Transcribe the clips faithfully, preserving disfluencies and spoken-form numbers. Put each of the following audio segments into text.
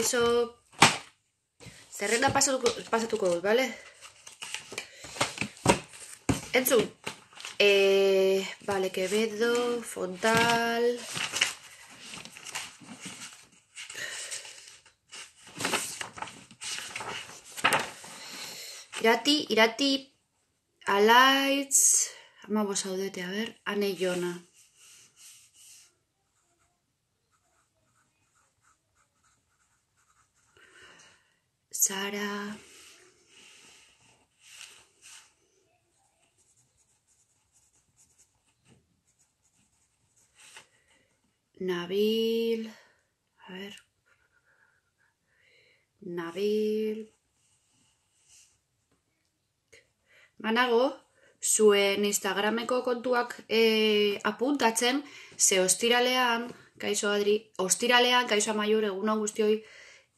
kaixo. Zerrenda pasatuko, pasatuko dut, bale? Entzun. Eh, vale, Quevedo, Fontal. Irati, irati, alaitz. Ama bosaudete, a ver, Ane Jona. Sara. Nabil. A ver. Nabil. Manago, zuen Instagrameko kontuak eh, apuntatzen, ze ostiralean, kaixo Adri, ostiralean, kaixo Amaiur, egun hau guztioi,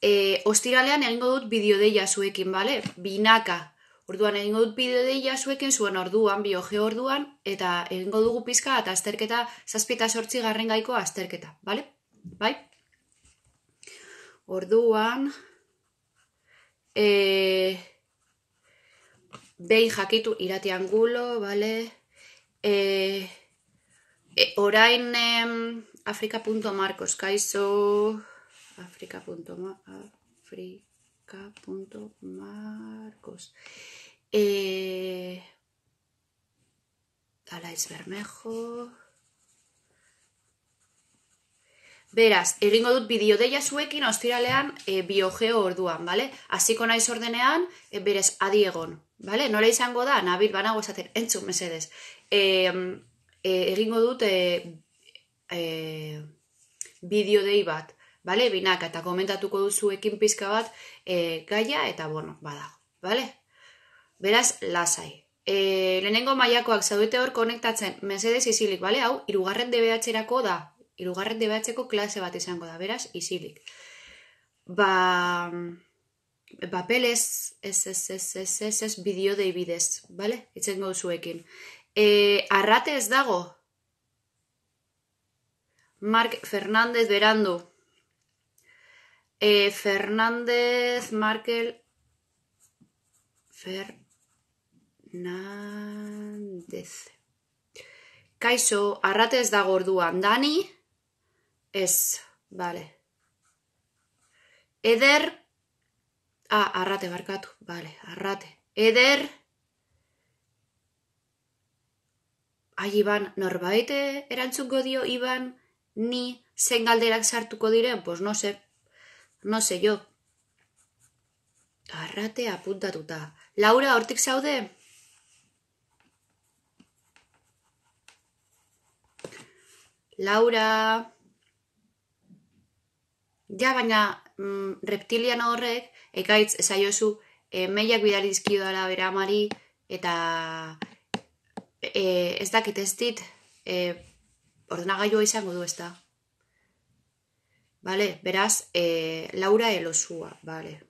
eh, ostiralean egingo dut bideodeia zuekin, bale? Binaka. Orduan egingo dut bideodeia zuekin zuen orduan, biogeo orduan, eta egingo dugu pizka eta azterketa, zazpieta sortzi garren gaiko azterketa, bale? Bai? Orduan, eh... behin jakitu irati angulo, bale? E, e, orain em, afrika.marcos, kaixo afrika.marcos e, Alaiz Bermejo. Beraz, egingo dut bideodeia zuekin ostiralean e, biogeo orduan, bale? Hasiko naiz ordenean, e, berez, adi egon. Vale? Nola izango da, Nabil banago esaten, entzun mesedez. E, e, egingo dut e, e, bideodei bat, vale? Binaka, eta komentatuko duzuekin pizka bat e, gaia, eta bueno, badago, vale? Beraz, lasai. E, lehenengo mailakoak zaudete hor konektatzen, mesedez isilik, vale? Hau, irugarren D B H-erako da, irugarren D B H-eko klase bat izango da, beraz, isilik. Ba... Papeles, ez, ez, ez, ez, ez, ez, bideodei bidez, bale? Itzen gauzuekin. E, arrate ez dago. Mark Fernández Berandu. E, Fernández, Markel... Fernández. Kaixo, arrate ez dago orduan. Dani? Ez, bale. Eder... Ah, arrate barkatu, vale, arrate. Eder... Ai, Iban, norbait erantzungo dio, Iban, ni zen galderak sartuko diren? Pues no sé, no sé yo. Arrate apuntatuta. Laura, hortik zaude? Laura... Ja, baina mm, reptiliano horrek, ekaitz esaiozu, e, meiak bidali dizkio dala bera amari, eta e, ez dakit ez dit, e, ordenagailua izango du ez da. Vale, beraz, e, Laura elosua, vale.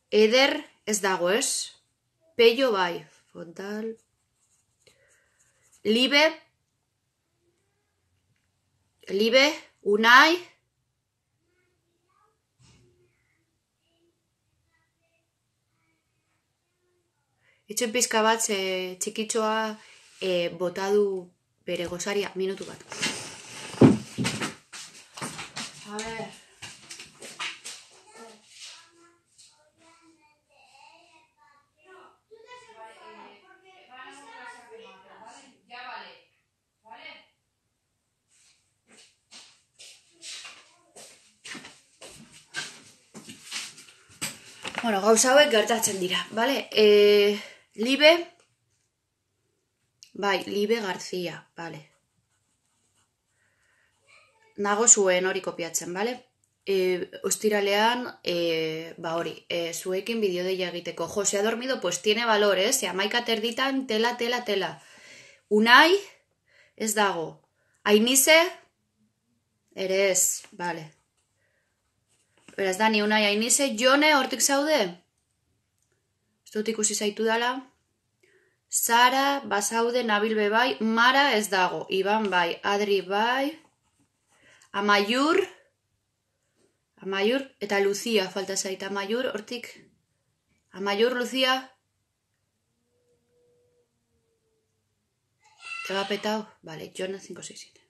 Eder ez dago ez, Peio bai, Fontal, Libe, Libe, Unai, itxen pizka bat e, txikitxoa e, botadu bere gozaria, minutu bat. A ver. Bueno, gauza hauek gertatzen dira, bale? E, Libe, bai, Libe García, bale. Nago zuen hori kopiatzen, bale? E, ostiralean, e, ba hori, e, zuekin bideodeia egiteko. Jo, se ha dormido, pues tiene valor, eh? Se amaika terditan, tela, tela, tela. Unai, ez dago. Ainize, ere ez, bale. Beraz, Dani, Unai, Ainize, Jone, hortik zaude? Ez dut ikusi zaitu dala. Sara, bazaude, Nabil be bai, Mara ez dago. Iban bai, Adri bai, Amaiur, Amaiur, eta Lucia falta zait. Amaiur, hortik. Amaiur, Lucia. Te va petau. Vale, Jonah cinco seis siete.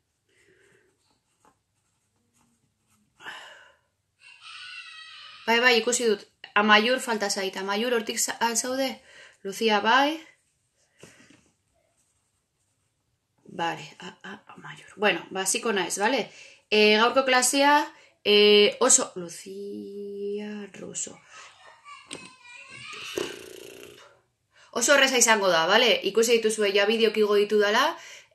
Bai, bai, ikusi dut. Amaiur falta zait. Amaiur, hortik zaude. Lucia, bai. Vale, Amaiur. Bueno, basiko naiz, vale? E, gaurko klasea e, oso... Lucia Russo. Oso horreza izango da, vale? Ikusi dituzue ja bideok igo ditu dela,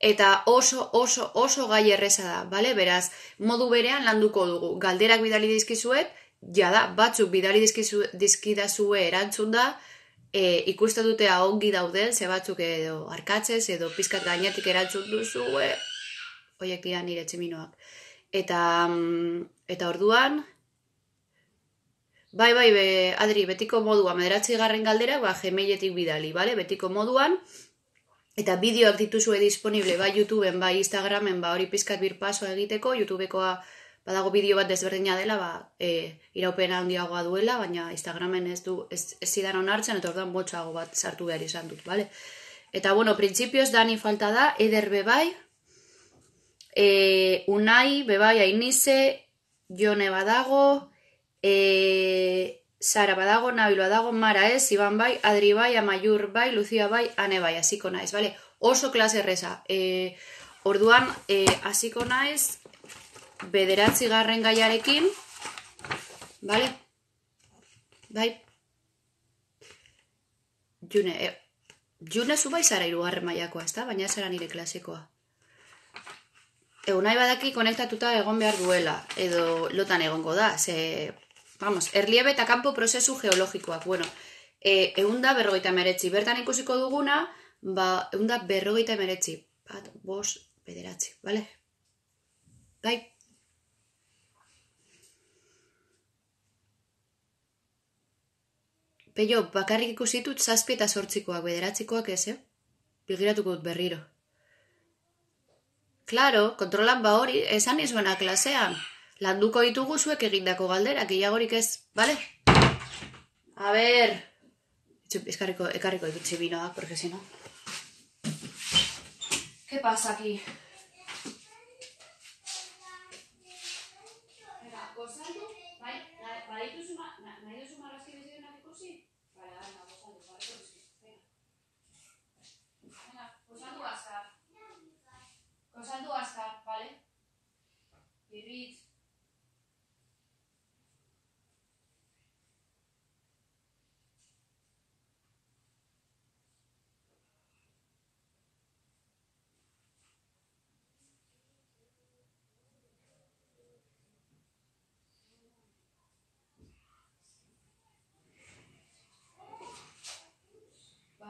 eta oso, oso, oso gai erreza da, vale? Beraz, modu berean landuko dugu. Galderak bidali dizkizuet, jada, batzuk bidali dizkidazue erantzun da, e, ikusten dutea ongi dauden, ze batzuk edo arkatzez, edo pizkat gainetik erantzun duzue, oiek dira nire tximinoak. Eta, eta orduan... Bai, bai, be, Adri, betiko moduan, mederatzi garren galdera, ba, gmailetik bidali, bale? Betiko moduan, eta bideoak dituzue disponible, bai YouTubeen, bai Instagramen, ba, hori pizkat birpasoa egiteko, YouTubekoa badago bideo bat desberdina dela, ba, e, iraupena handiagoa duela, baina Instagramen ez du, ez, ez zidan onartzen, eta orduan botxago bat sartu behar izan dut, bale? Eta, bueno, printzipioz, Dani falta da, Eder bebai, e, Unai, bebai, Ainize, Jone badago, E, Sara badago, Nabil badago, Mara ez, Iban bai, Adri bai, Amaiur bai, Lucia bai, Ane bai, hasiko naiz, bale? Oso klase erreza. E, orduan, e, hasiko naiz, bederatzi garren gaiarekin, bale? Bai? June, e, June zu bai zara irugarren mailakoa, ez da? Baina zara nire klasekoa. Egun nahi badaki konektatuta egon behar duela, edo lotan egongo da, ze... Vamos, erliebe eta kanpo prozesu geologikoak. Bueno, e, eunda berrogeita emeretzi. Bertan ikusiko duguna, ba, eunda berrogeita emeretzi. Bat, bos, bederatzi, bale? Bai? Peio, bakarrik ikusitut zazpi eta sortzikoak, bederatzikoak ez, eh? Bigiratuko dut berriro. Claro, kontrolan ba hori, esan izuena klasean. Landuko ditugu zuek egindako galderak, gehiagorik ez, bale? A ber... Eskarriko, ekarriko ditut txibinoak, porque si no... ¿Qué pasa aquí? Venga, gozaldu, bai, nahi duzu marrazki bizidenak ikusi? Bale, venga, gozaldu, bale, gozaldu, venga. Venga, gozaldu azkar. Gozaldu azkar, bale? Irrit.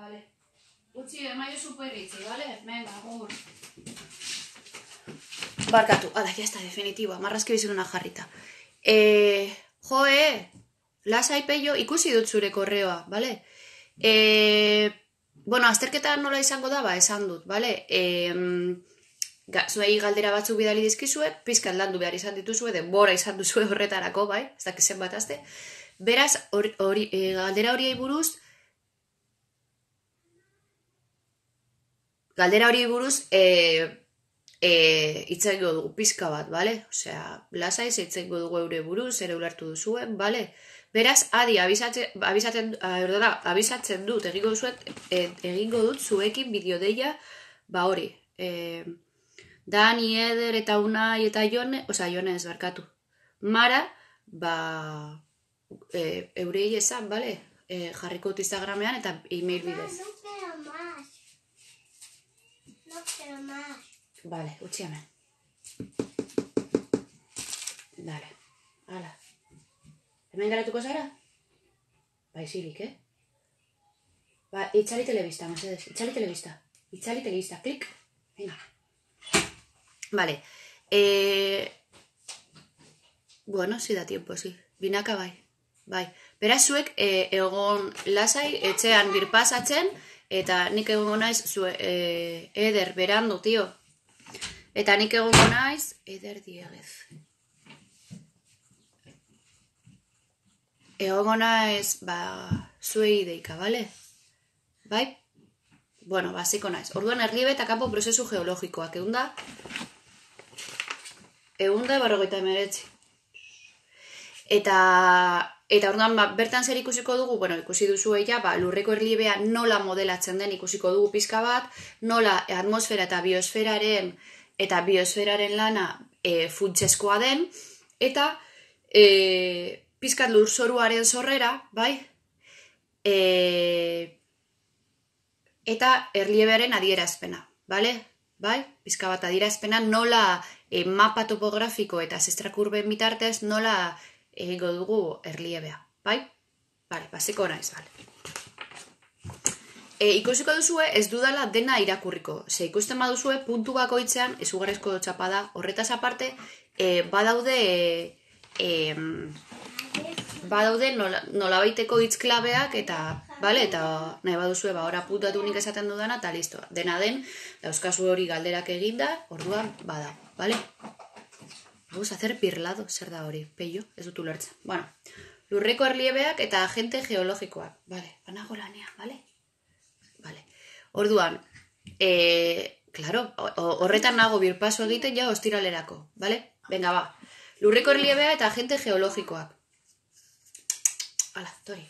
Vale. Utsi, emaio superritzi, vale? Venga, agur. Barkatu, ala, ya está, definitiba. Marrazki biziruna jarrita. Eh, joe, lasai Peio, ikusi dut zure korreoa, vale? Eh, bueno, azterketa nola izango da, ba, esan dut, vale? Eh, ga, zuei galdera batzuk bidali dizkizue, pizkat landu behar izan dituzue, denbora izan duzue horretarako, bai? Ez dakit zenbat azte. Beraz, or, or, eh, galdera horiei buruz, Galdera hori buruz, e, e, itzaiko dugu pizka bat, bale? Osea, lasaiz, itzaiko dugu eure buruz, ere ulertu duzuen, bale? Beraz, adi, abizatzen, abizatzen, erdora, abizatzen dut, egingo zuet, e, egingo dut zuekin bideodeia, ba hori. E, Dani, Eder, eta Unai, eta Jone, osea, Jone ez barkatu. Mara, ba, e, eurei esan, bale? E, jarriko dut Instagramean, eta e-mail bidez. No quiero más. Vale, utzi hemen. Dale, hala. Hemen garatuko zara? Ba, izilik, eh? Ba, itxali telebista, mesedez. Itxali telebista. Itxali telebista, klik. Venga. Vale. Eh... Bueno, si da tiempo, si. Binaka bai. Bai. Beraz zuek, eh, egon lasai, etxean birpasatzen, eta nik egongo naiz, zue, e, Eder, berandu, tio. Eta nik egongo naiz, Eder Diegez. egongo naiz, ba, zuei deika, bale? Bai? Bueno, basiko naiz. Orduan erliebe eta kanpo prozesu geologikoak, eunda, eunda barrogeita emeretzi. Eta, eta orduan, ba, bertan zer ikusiko dugu, bueno, ikusi duzu eia, ba, lurreko erliebea nola modelatzen den ikusiko dugu pizka bat, nola atmosfera eta biosferaren, eta biosferaren lana e, funtsezkoa den, eta e, pizkat lurzoruaren zorrera, bai? E, eta erliebearen adierazpena, bale? Bai? Pizka bat adierazpena nola e, mapa topografiko eta zestrakurben bitartez nola egingo dugu erliebea, bai? Bale, basiko naiz, bale. E, ikusiko duzue ez dudala dena irakurriko. Ze ikusten baduzue puntu bakoitzean izugarrizko txapada. Horretaz aparte, e, badaude e, badaude nola, nolabaiteko hitzklabeak eta, bale, eta nahi baduzue, ba, ora puntatu nik esaten dudana, eta listo. Dena den, dauzkazu hori galderak eginda, orduan bada, bale? Vamos a hacer pirlado, zer da hori, peio, ez dut ulertzen. Bueno, lurreko erliebeak eta agente geologikoak, bale, banago lanea, bale? Bale, orduan, e, claro, horretan nago birpaso egiten ja ostiralerako, bale? Venga, ba, lurreko erliebea eta agente geologikoak. Hala, tori.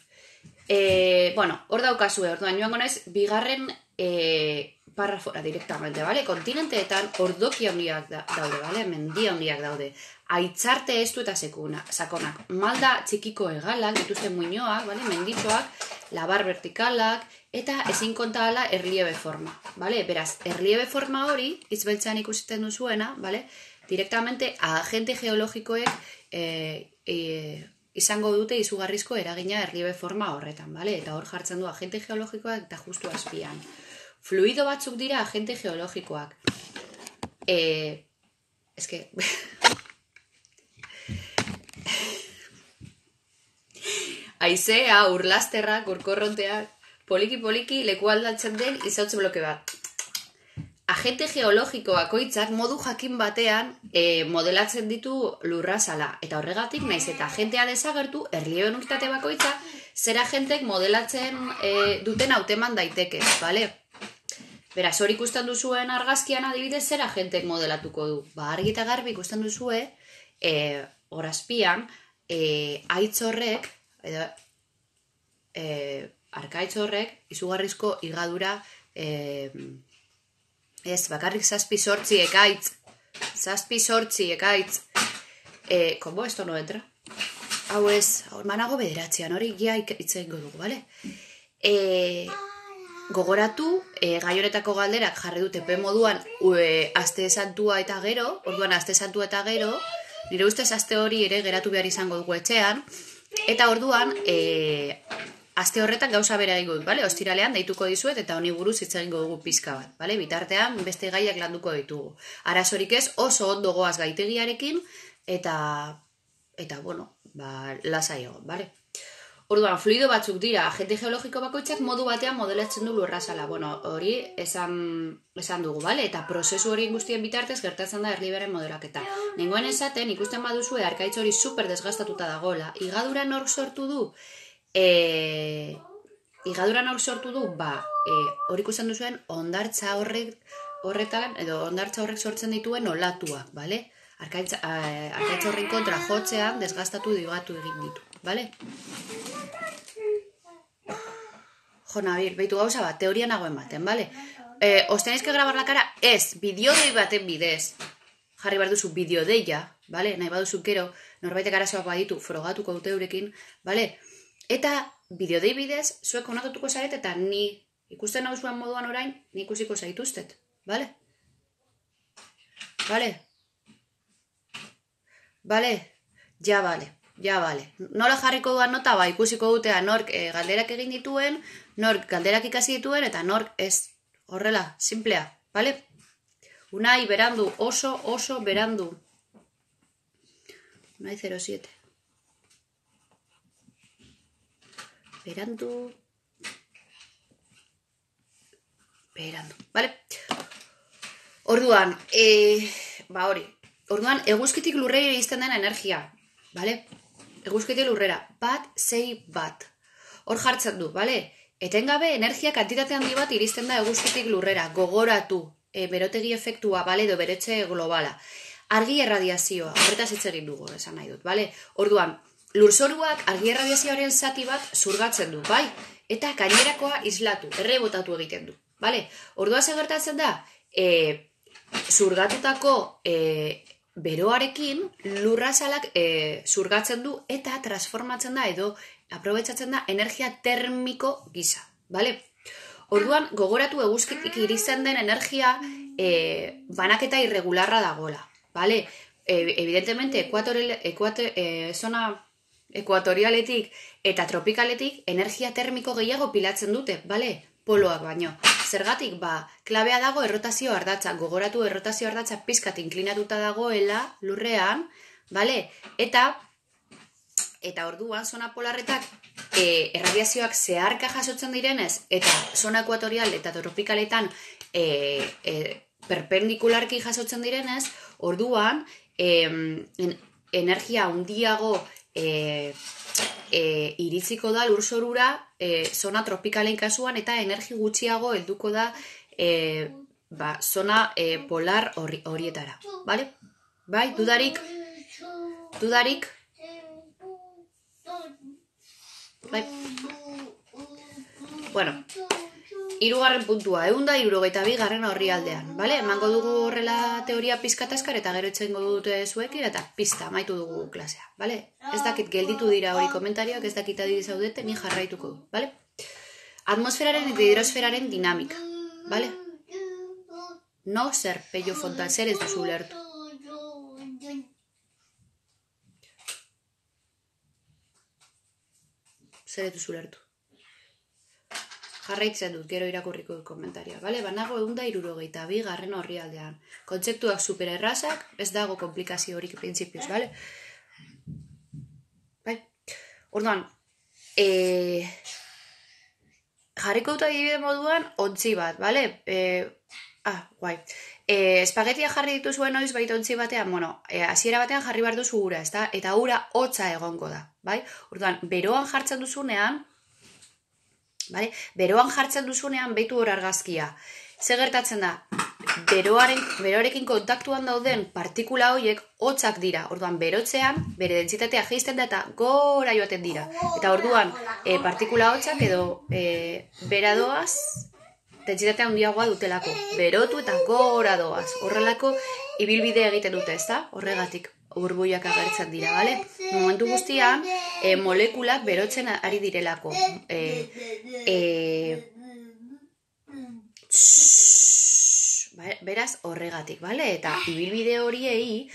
E, bueno, hor daukazue, orduan joango naiz, bigarren e, parrafora directamente, bale? Kontinenteetan ordoki handiak da, daude, bale? Mendi handiak daude. Aitzarte estu eta sekuna, sakonak. Malda txikiko hegalak, dituzten muinoak, bale? Menditxoak, labar vertikalak, eta ezin konta ala erliebe forma, bale? Beraz, erliebe forma hori, izbeltzean ikusiten duzuena, bale? Directamente, agente geologikoek e, e, izango dute izugarrizko eragina erliebe forma horretan, bale? Eta hor jartzen du agente geologikoak eta justu azpian. Fluido batzuk dira agente geologikoak. Eh, es que... Aizea, urlasterrak, urkorronteak, poliki-poliki leku aldatzen den izautze bloke bat. Agente geologiko bakoitzak modu jakin batean e, modelatzen ditu lurrazala. Eta horregatik, naiz eta agentea desagertu, erliebe unitate bakoitza, zer agentek modelatzen e, duten hauteman daiteke, bale? Beraz, hori ikusten duzuen argazkian adibidez, zer agentek modelatuko du? Ba, argi eta garbi ikusten duzue, e, horazpian, e, aitz horrek, edo, e, arkaitz horrek, izugarrizko higadura, e, ez, bakarrik zazpi sortzi ekaitz, zazpi sortzi ekaitz, e, como esto no entra? Hau ez, manago bederatzean, hori gia itzeingo dugu, bale? E, gogoratu, e, gai honetako galderak jarri dute pe moduan e, aste santua eta gero, orduan aste santua eta gero, nire ustez aste hori ere geratu behar izango dugu etxean, eta orduan, e, aste horretan gauza bera egingo dut, bale? Ostiralean deituko dizuet eta honi buruz hitz egingo dugu pizka bat, bale? Bitartean beste gaiak landuko ditugu. Arazorik ez, oso ondo goaz gaitegiarekin, eta, eta bueno, ba, lasai egon, bale? Orduan, fluido batzuk dira, agente geologiko bakoitzak modu batean modelatzen du lurrazala. Bueno, hori esan, esan dugu, bale? Eta prozesu hori guztien bitartez gertatzen da erlieberen modelaketa. Nengoen esaten, ikusten baduzue, arkaitz hori super desgastatuta dagoela. Igadura nork sortu du? E, igadura nork sortu du? Ba, e, hori ikusten duzuen, ondartza horrek, horretan, edo ondartza horrek sortzen dituen olatuak, bale? Arkaitz, arkaitz horren kontra jotzean desgastatu digatu egin ditu, bale? Jo, Nabil, behitu gauza bat, teoria nagoen baten, bale? Eh, ¿os tenéis que grabar la cara? Ez, bideodei baten bidez. Jarri behar duzu bideodeia, bale? Nahi baduzu kero, norbaitek arazoak baditu, frogatuko dute eurekin, bale? Eta bideodei bidez, zuek konatutuko zaret eta ni ikusten nauzuan moduan orain, ni ikusiko zaituztet, bale? Bale? Bale? Ja, bale. Ja, bale. Nola jarriko duan nota, ba, ikusiko dutea nork e, galderak egin dituen, nork galderak ikasi dituen, eta nork ez. Horrela, simplea, bale? Unai, berandu, oso, oso berandu. Unai zero siete. Berandu. Berandu, bale? Orduan, e, ba hori. Orduan, eguzkitik lurrei izten den energia, bale? eguzkitik lurrera, bat, sei, bat. Hor jartzen du, bale? Etengabe energia kantitate handi bat iristen da eguzkitik lurrera, gogoratu, e, berotegi efektua, bale, edo beretxe globala. Argi erradiazioa, horretaz hitz egin dugu, esan nahi dut, bale? Orduan, lurzoruak argi erradiazioaren zati bat zurgatzen du, bai? Eta gainerakoa islatu, errebotatu egiten du, bale? Ordua ze gertatzen da, e, zurgatutako e, beroarekin lurrazalak e, zurgatzen du eta transformatzen da edo aprobetxatzen da energia termiko gisa, bale? Orduan, gogoratu eguzkitik iristen den energia e, banaketa irregularra dagoela, bale? E, evidentemente, ekuatore, e, zona ekuatorialetik eta tropikaletik energia termiko gehiago pilatzen dute, bale? Poloak baino. Zergatik, ba, klabea dago errotazio ardatza, gogoratu errotazio ardatza pizkat inklinatuta dagoela lurrean, bale? Eta, eta orduan, zona polarretak e, erradiazioak zeharka jasotzen direnez, eta zona ekuatorial eta tropikaletan e, e, perpendikularki jasotzen direnez, orduan, e, en, energia handiago e, e, iritziko da lurzorura e, zona tropikalen kasuan eta energi gutxiago helduko da e, ba, zona e, polar hori, horietara. Bale? Bai, dudarik? Dudarik? Bai. Bueno, hirugarren puntua, ehun eta hirurogeita bi garren orrialdean, bale? Emango dugu horrela teoria pizkataskar eta gero etxengo dute zuekin eta pista amaitu dugu klasea, bale? Ez dakit gelditu dira hori komentarioak, ez dakit adiri zaudete, ni jarraituko du, bale? Atmosferaren eta hidrosferaren dinamika, bale? No zer, Pello Fontan, zer ez duzu ulertu. Zer ez duzu ulertu. Jarraitzen dut, gero irakurriko dut komentarioa, bale? Banago ehun eta hirurogeita bi garren orrialdean. Kontzeptuak supererrazak, ez dago komplikazio horik printzipioz, bale? Bai? Orduan, e... jarriko dut adibide moduan ontzi bat, bale? E... Ah, guai. E, espagetia jarri dituzuen noiz baita ontzi batean, bueno, e, hasiera batean jarri behar duzu ura, ezta? Eta ura hotza egongo da, bai? Orduan, beroan jartzen duzunean, Bale? Beroan jartzen duzunean behitu hor argazkia. Ze gertatzen da? Beroaren, beroarekin kontaktuan dauden partikula horiek hotzak dira. Orduan, berotzean, bere dentsitatea jaisten da eta gora joaten dira. Eta orduan, e, partikula hotzak edo e, bera doaz, dentsitatea handiagoa dutelako. Berotu eta gora doaz. Horrelako ibilbide egiten dute, ezta? Horregatik burbuiak agertzen dira, bale? Momentu guztian, e, molekulak berotzen ari direlako. E, e, tss, beraz, horregatik, bale? Eta ibilbide horiei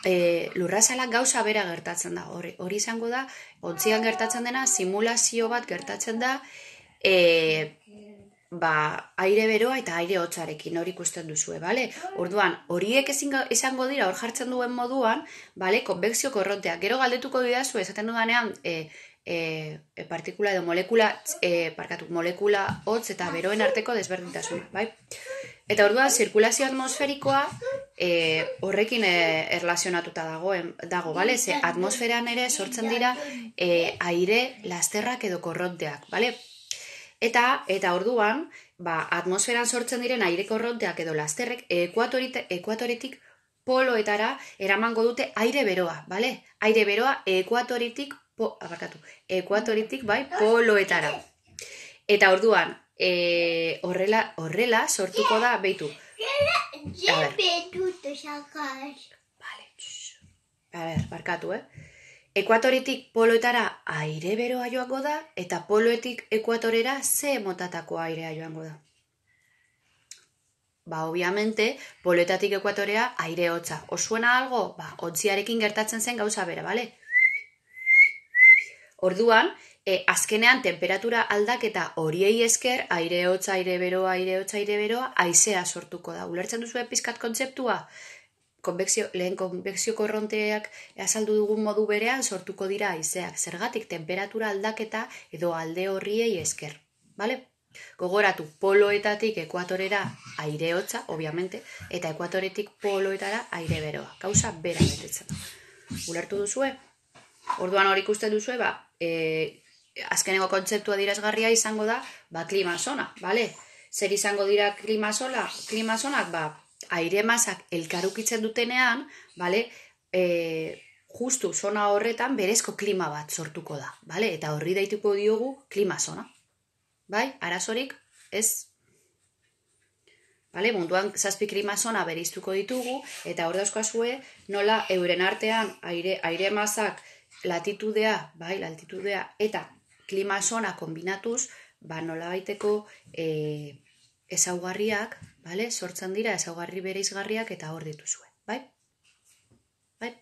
e, lurrazalak gauza bera gertatzen da. Hori, hori izango da, ontzian gertatzen dena, simulazio bat gertatzen da, e, ba, aire beroa eta aire hotzarekin hori ikusten duzue, bale? Orduan, horiek izango dira hor jartzen duen moduan, bale, konbekzio korronteak. Gero galdetuko didazu, esaten dudanean, e, e, partikula edo molekula, e, parkatu, molekula hotz eta beroen arteko desberdintasuna, bai? Eta orduan, zirkulazio atmosferikoa e, horrekin e, erlazionatuta dago, dago, bale? Ze atmosferan ere sortzen dira e, aire lasterrak edo korronteak, bale? Eta, eta orduan, ba, atmosferan sortzen diren aire korronteak edo lasterrek ekuatoretik poloetara eramango dute aire beroa, bale? Aire beroa ekuatoretik, po, abarkatu, ekuatoretik, bai, poloetara. Eta orduan, e, horrela, horrela sortuko da, behitu. A ber, vale, a ber, barkatu, eh? Ekuatoretik poloetara aire beroa joango da, eta poloetik ekuatorera ze motatako airea joango da. Ba, obviamente, poloetatik ekuatorea aire hotza. Osuena algo? Ba, ontziarekin gertatzen zen gauza bera, bale? Orduan, e, azkenean temperatura aldaketa horiei esker, aire hotza, aire beroa, aire hotza, aire beroa, haizea sortuko da. Ulertzen duzu pizkat kontzeptua? Konbekzio, lehen konbekzio korronteak azaldu dugun modu berean sortuko dira haizeak. Zergatik temperatura aldaketa edo alde horriei esker. Bale? Gogoratu, poloetatik ekuatorera aire hotza, obviamente, eta ekuatoretik poloetara aire beroa. Gauza bera betetzen. Ulertu duzue? Orduan hori ikusten duzue, ba, e, azkeneko kontzeptua dirazgarria izango da, ba, klima zona, bale? Zer izango dira klima zona, klima zonak, ba, aire masak elkarukitzen dutenean, bale? E, justu zona horretan berezko klima bat sortuko da, bale? Eta horri daituko diogu klima zona. Bai, arazorik ez. Bale, munduan zazpi klima zona bereiztuko ditugu, eta hor dauzkazue nola euren artean aire, aire masak latitudea, bai, latitudea, eta klima zona kombinatuz, ba, nola baiteko e, ezaugarriak, bale, sortzen dira ezaugarri bereizgarriak eta hor dituzue, bai? Bai?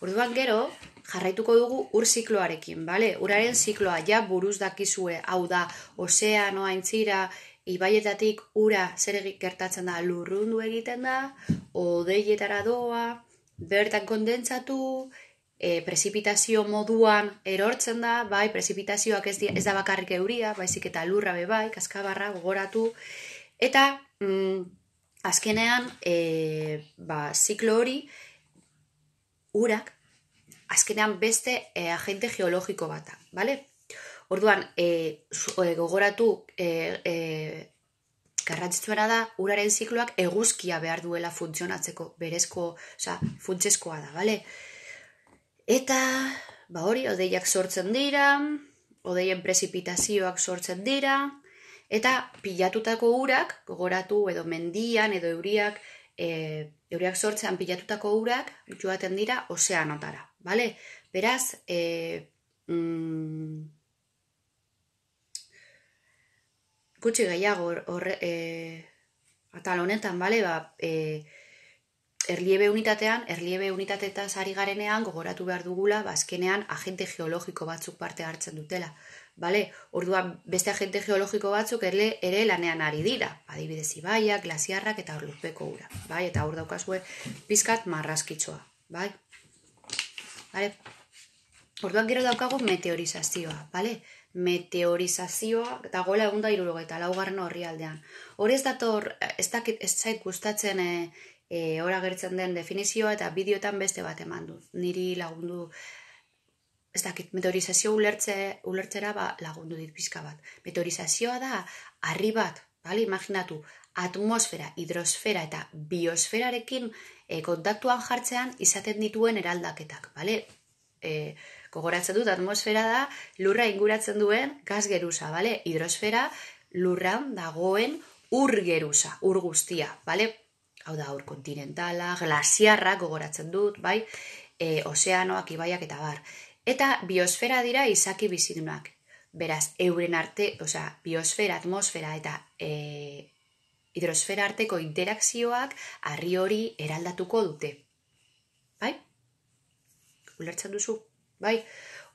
Orduan gero, jarraituko dugu ur zikloarekin, bale? Uraren zikloa ja buruz dakizue, hau da, ozeanoa aintzira, ibaietatik ura zer gertatzen da, lurrundu egiten da, hodeietara doa, bertan kondentsatu, e, prezipitazio moduan erortzen da, bai, prezipitazioak ez, di, ez da bakarrik euria, baizik eta lurra be bai, kaskabarra, gogoratu, eta mm, azkenean, e, ba, ziklo hori, urak, azkenean beste e, agente geologiko bata, bale? Orduan, e, gogoratu, e, e, garrantzitsuena da, uraren zikloak eguzkia behar duela funtzionatzeko, berezko, oza, funtsezkoa da, bale? Eta, ba hori, hodeiak sortzen dira, hodeien prezipitazioak sortzen dira, eta pilatutako urak, gogoratu, edo mendian, edo euriak, e, euriak sortzean pilatutako urak, joaten dira ozeanotara, bale? Beraz, e, mm, gutxi gehiago horre, e, atal honetan, bale, ba, e, erliebe unitatean, erliebe unitateetaz ari garenean, gogoratu behar dugula, ba, azkenean agente geologiko batzuk parte hartzen dutela, bale? Orduan, beste agente geologiko batzuk ere, ere lanean ari dira, adibidez ibaiak, glasiarrak eta orluzbeko ura, bai? Eta hor daukazue pizkat marraskitzoa, bai? Bale? Orduan gero daukagu meteorizazioa, bale? Meteorizazioa dagoela egun da hirurogeita laugarren horri aldean. Hori ez dator, ez dakit ez zait gustatzen e, e, ora gertzen den definizioa eta bideoetan beste bat eman du. Niri lagundu, ez dakit, meteorizazio ulertze, ulertzera ba, lagundu dit pizka bat. Meteorizazioa da, harri bat, bale? Imaginatu, atmosfera, hidrosfera eta biosferarekin e, kontaktuan jartzean izaten dituen eraldaketak, bale? E, gogoratzen dut, atmosfera da lurra inguratzen duen gas geruza, bale? Hidrosfera lurran dagoen ur geruza, ur guztia, bale? Hau da, ur kontinentala, glasiarrak gogoratzen dut, bai? E, ozeanoak, ibaiak eta bar. Eta biosfera dira izaki bizidunak. Beraz, euren arte, osea, biosfera, atmosfera eta e, hidrosfera arteko interakzioak harri hori eraldatuko dute. Bai? Ulertzen duzu? Bai?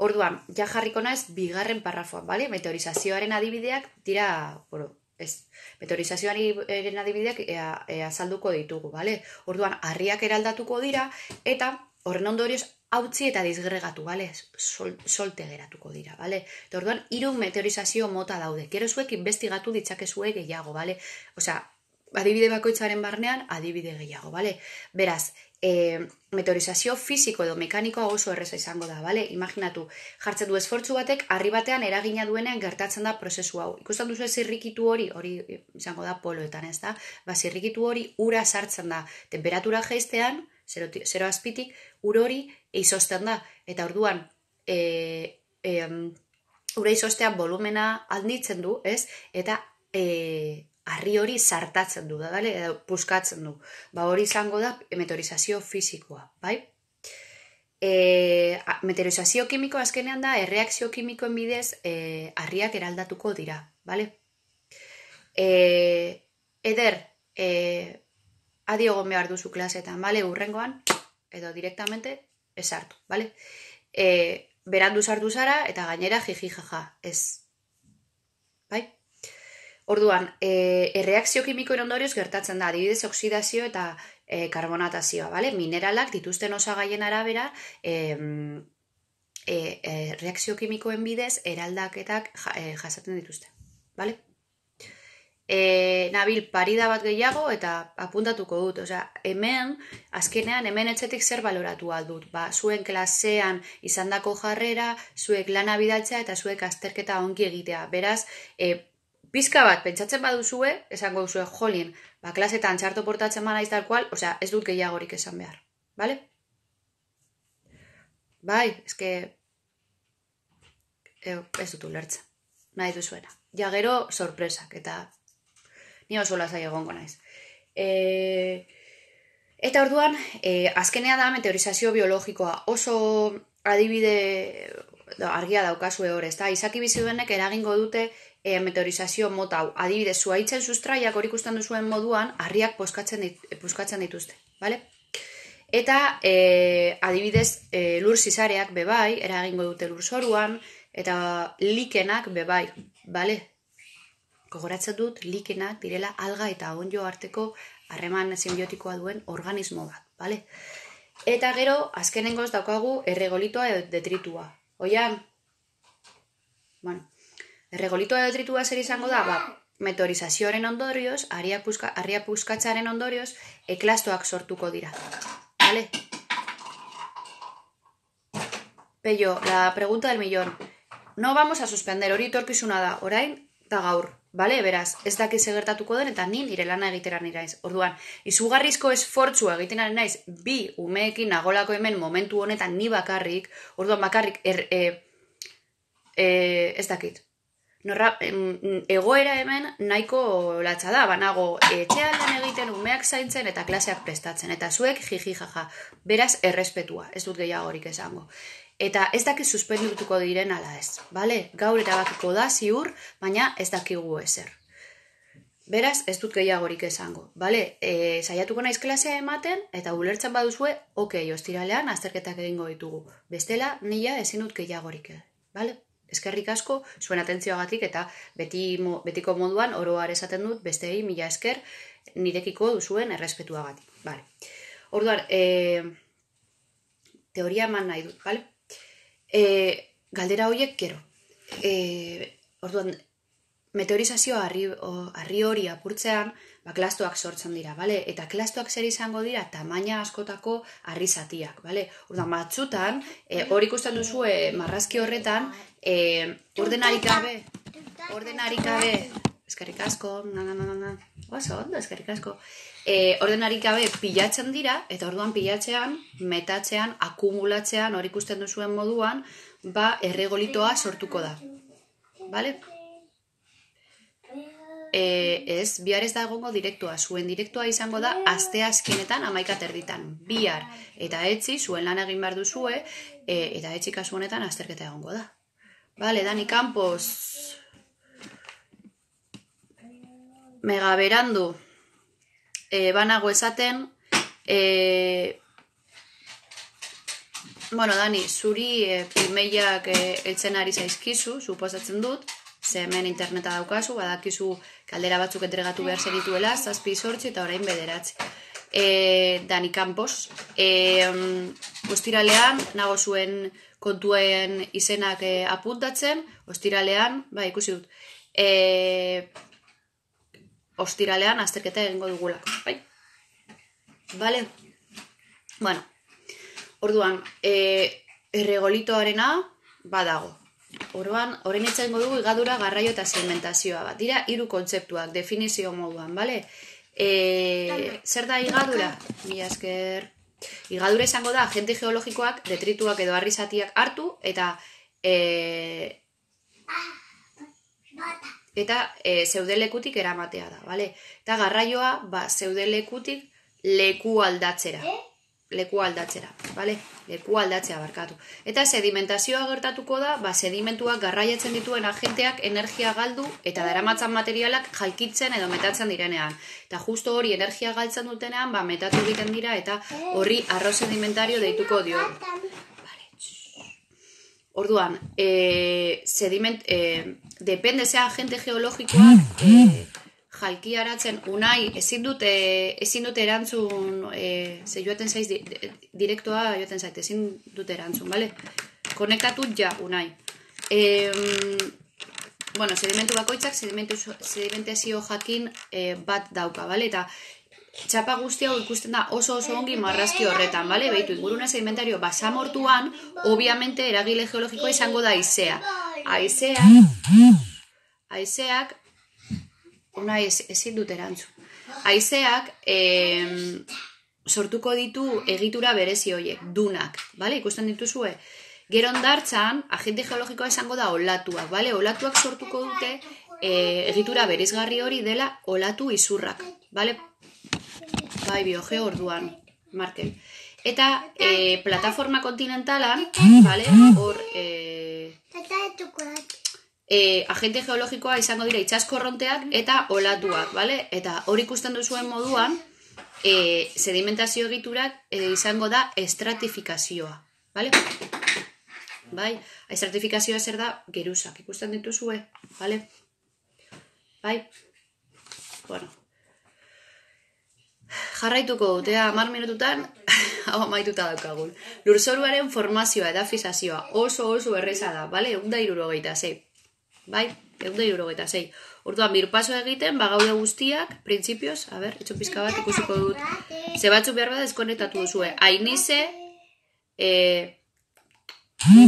Orduan, ja jarriko naiz bigarren parrafoan, bale? Meteorizazioaren adibideak dira, bueno, ez, meteorizazioaren adibideak ea, ea azalduko ditugu, bale? Orduan, harriak eraldatuko dira, eta horren ondorioz hautzi eta dizgregatu, bale? Sol, solte geratuko dira, bale? Eta orduan, hiru meteorizazio mota daude. Gero zuek investigatu ditzakezue gehiago, bale? Osea, adibide bakoitzaren barnean, adibide gehiago, bale? Beraz, E, meteorizazio fisiko edo mekanikoa oso erreza izango da, bale? Imaginatu, jartzen du esfortzu batek, harri batean eragina duenean gertatzen da prozesu hau. Ikusten duzu zirrikitu hori, hori izango da poloetan, ez da? Ba, zirrikitu hori ura sartzen da. Temperatura jeistean, zero, zero azpitik, ur hori eizosten da. Eta orduan, e, e, ura eizostean volumena handitzen du, ez? Eta e, harri hori sartatzen du, da, bale? Edo puskatzen du. Ba, hori izango da meteorizazio fisikoa, bai? E, meteorizazio kimiko azkenean da, erreakzio kimikoen bidez e, harriak eraldatuko dira, bale? E, eder, e, adiogon behar duzu klasetan, bale? Urrengoan, edo direktamente, esartu, bale? E, berandu sartu zara, eta gainera jiji jaja, ez, bai? Orduan, e, erreakzio kimikoen ondorioz gertatzen da, adibidez oksidazio eta e, karbonatazioa, bale? Mineralak dituzten osagaien arabera, e, e, e, reakzio kimikoen bidez eraldaketak ja, e, jasaten dituzte, bale? e, nabil parida bat gehiago eta apuntatuko dut. Osea, hemen, azkenean, hemen etxetik zer baloratu aldut. Ba, zuen klasean izandako jarrera, zuek lana bidaltzea eta zuek azterketa ongi egitea. Beraz, e, pizka bat, pentsatzen baduzue, esango duzue, jolien, ba, klasetan txarto portatzen manaiz tal kual, osea, ez dut gehiagorik esan behar. Bale? Bai, eske... Eu, ez dut ulertzen. Nahi duzuena. Ja gero, sorpresak, eta ni oso lasai egongo naiz. E... Eta orduan, e, azkenea da meteorizazio biologikoa. Oso adibide da, argia daukazue hor, ezta? Izaki bizi duenek eragingo dute e, meteorizazio mota hau. Adibidez, zuhaitzen sustraiak hori ikusten duzuen moduan, harriak puskatzen, dit, puskatzen dituzte, bale? Eta e, adibidez, e, lur zizareak bebai, eragingo dute lur zoruan, eta likenak bebai, bale? Gogoratzen dut, likenak direla alga eta onjo arteko harreman simbiotikoa duen organismo bat, bale? Eta gero, azkenengoz daukagu erregolitoa edo detritua. Oian, bueno, erregolitoa edo detritua zer izango da, ba, meteorizazioaren ondorioz, harria puska, puskatzaren ondorioz, eklastoak sortuko dira, bale? Pello, la pregunta del millón. No vamos a suspender, hori torkizuna da, orain da gaur, bale? Beraz, ez dakiz egertatuko den, eta ni nire lana egitera niraiz. Orduan, izugarrizko esfortzua egiten ari naiz, bi umeekin nagolako hemen momentu honetan ni bakarrik, orduan bakarrik, er, e, e, ez dakit. Norra, egoera hemen nahiko latza da, banago etxean lan egiten, umeak zaintzen eta klaseak prestatzen, eta zuek jiji jaja, beraz errespetua, ez dut gehiagorik esango. Eta ez dakit suspendituko diren ala ez, bale? Gaur erabakiko da ziur, baina ez dakigu ezer. Beraz, ez dut gehiagorik esango, bale? E, saiatuko naiz klasea ematen, eta ulertzen baduzue, okei, ostiralean azterketak egingo ditugu. Bestela, nila ezin dut gehiagorik, bale? Eskerrik asko, zuen atentzioagatik, eta beti, betiko moduan, oroar esaten dut, besteei mila esker, nirekiko duzuen errespetuagatik, bale? Orduan, e, teoria eman nahi dut, bale? E, galdera horiek, gero. E, orduan, meteorizazioa harri, harri hori apurtzean, ba, klastoak sortzen dira, bale? Eta klastoak zer izango dira, tamaina askotako harri zatiak, bale? Orduan, batzutan, e, hori ikusten duzu e, marrazki horretan, e, ordenarik gabe, ordenarik gabe, eskerrik asko, na, na, na, na, oso ondo, eskerrik asko, e, ordenarik gabe pilatzen dira, eta orduan pilatzean, metatzean, akumulatzean, hori ikusten duzuen moduan, ba, erregolitoa sortuko da, bale? E, ez, bihar ez da egongo direktoa, zuen direktoa izango da aste azkenetan amaika terditan, bihar eta etzi, zuen lan egin behar duzue, e, eta etzi kasu honetan azterketa egongo da. Bale, Dani Campos, mega berandu, e, banago esaten, e, bueno, Dani, zuri e, pilmeiak e, eltzen ari zaizkizu, suposatzen dut, ze hemen interneta daukazu, badakizu kaldera batzuk entregatu behar zenituela, zazpi sortzi eta orain bederatzi. E, Dani Campos, e, um, ostiralean, nago zuen kontuen izenak e, apuntatzen, ostiralean, ba, ikusi dut, e, ostiralean azterketa egingo dugulako, bai? Bale? Bueno, orduan, e, erregolitoarena badago. Orduan, orain etxengo dugu higadura, garraio eta segmentazioa bat. Dira hiru kontzeptuak, definizio moduan, bale? E, zer da higadura? Mila esker. Higadura izango da, agente geologikoak, detrituak edo harri zatiak hartu, eta e, eta e, zeudelekutik eramatea da, bale? Eta garraioa, ba, zeudelekutik leku aldatzera. Leku aldatzera, bale? Leku aldatzea barkatu. Eta sedimentazioa gertatuko da, ba, sedimentuak garraiatzen dituen agenteak energia galdu eta daramatzan materialak jalkitzen edo metatzen direnean. Eta justo hori energia galtzen dutenean, ba, metatu egiten dira eta horri arro sedimentario deituko dio. Vale. Orduan, e, sediment, e, depende ze agente geologikoak, e, jalki aratzen unai, ezin dute, ezin dute erantzun, e, ze joaten zaiz, di, direktoa joaten zait, ezin dute erantzun, bale? Konektatu ja, unai. E, bueno, sedimentu bakoitzak sedimentazio jakin e, bat dauka, bale? Eta txapa guzti hau ikusten da oso oso ongi marrazki horretan, bale? Beitu, ingurune sedimentario basamortuan, obviamente eragile geologikoa izango da haizea. Haizeak, haizeak, una ez, ezin dut erantzun. Haizeak eh, sortuko ditu egitura berezi horiek, dunak, bale? Ikusten dituzue. Gero ondartzan, agente geologikoa izango da olatuak, bale? Olatuak sortuko dute eh, egitura bereizgarri hori dela olatu izurrak, bale? Bai, biogeo orduan, Markel. Eta e, plataforma kontinentalan, vale, hor e, e, agente geologikoa izango dira itsaskorronteak eta olatuak, vale? Eta hori ikusten duzuen moduan, e, sedimentazio egiturak e, izango da estratifikazioa, vale? Bai, estratifikazioa zer da geruzak, ikusten dituzue, vale? Bai, bueno. Jarraituko dute, hamar minututan, hau amaituta daukagun. Lurzoruaren formazioa eta fisazioa oso oso erreza da, bale? Egun da hirurogeita sei. Bai, egun da hirurogeita sei. Orduan, birpaso egiten, bagaude guztiak, printzipioz, a ber, etxo pizka bat ikusiko dut. Ze batzuk behar bada deskonektatu duzue. Ainize, e,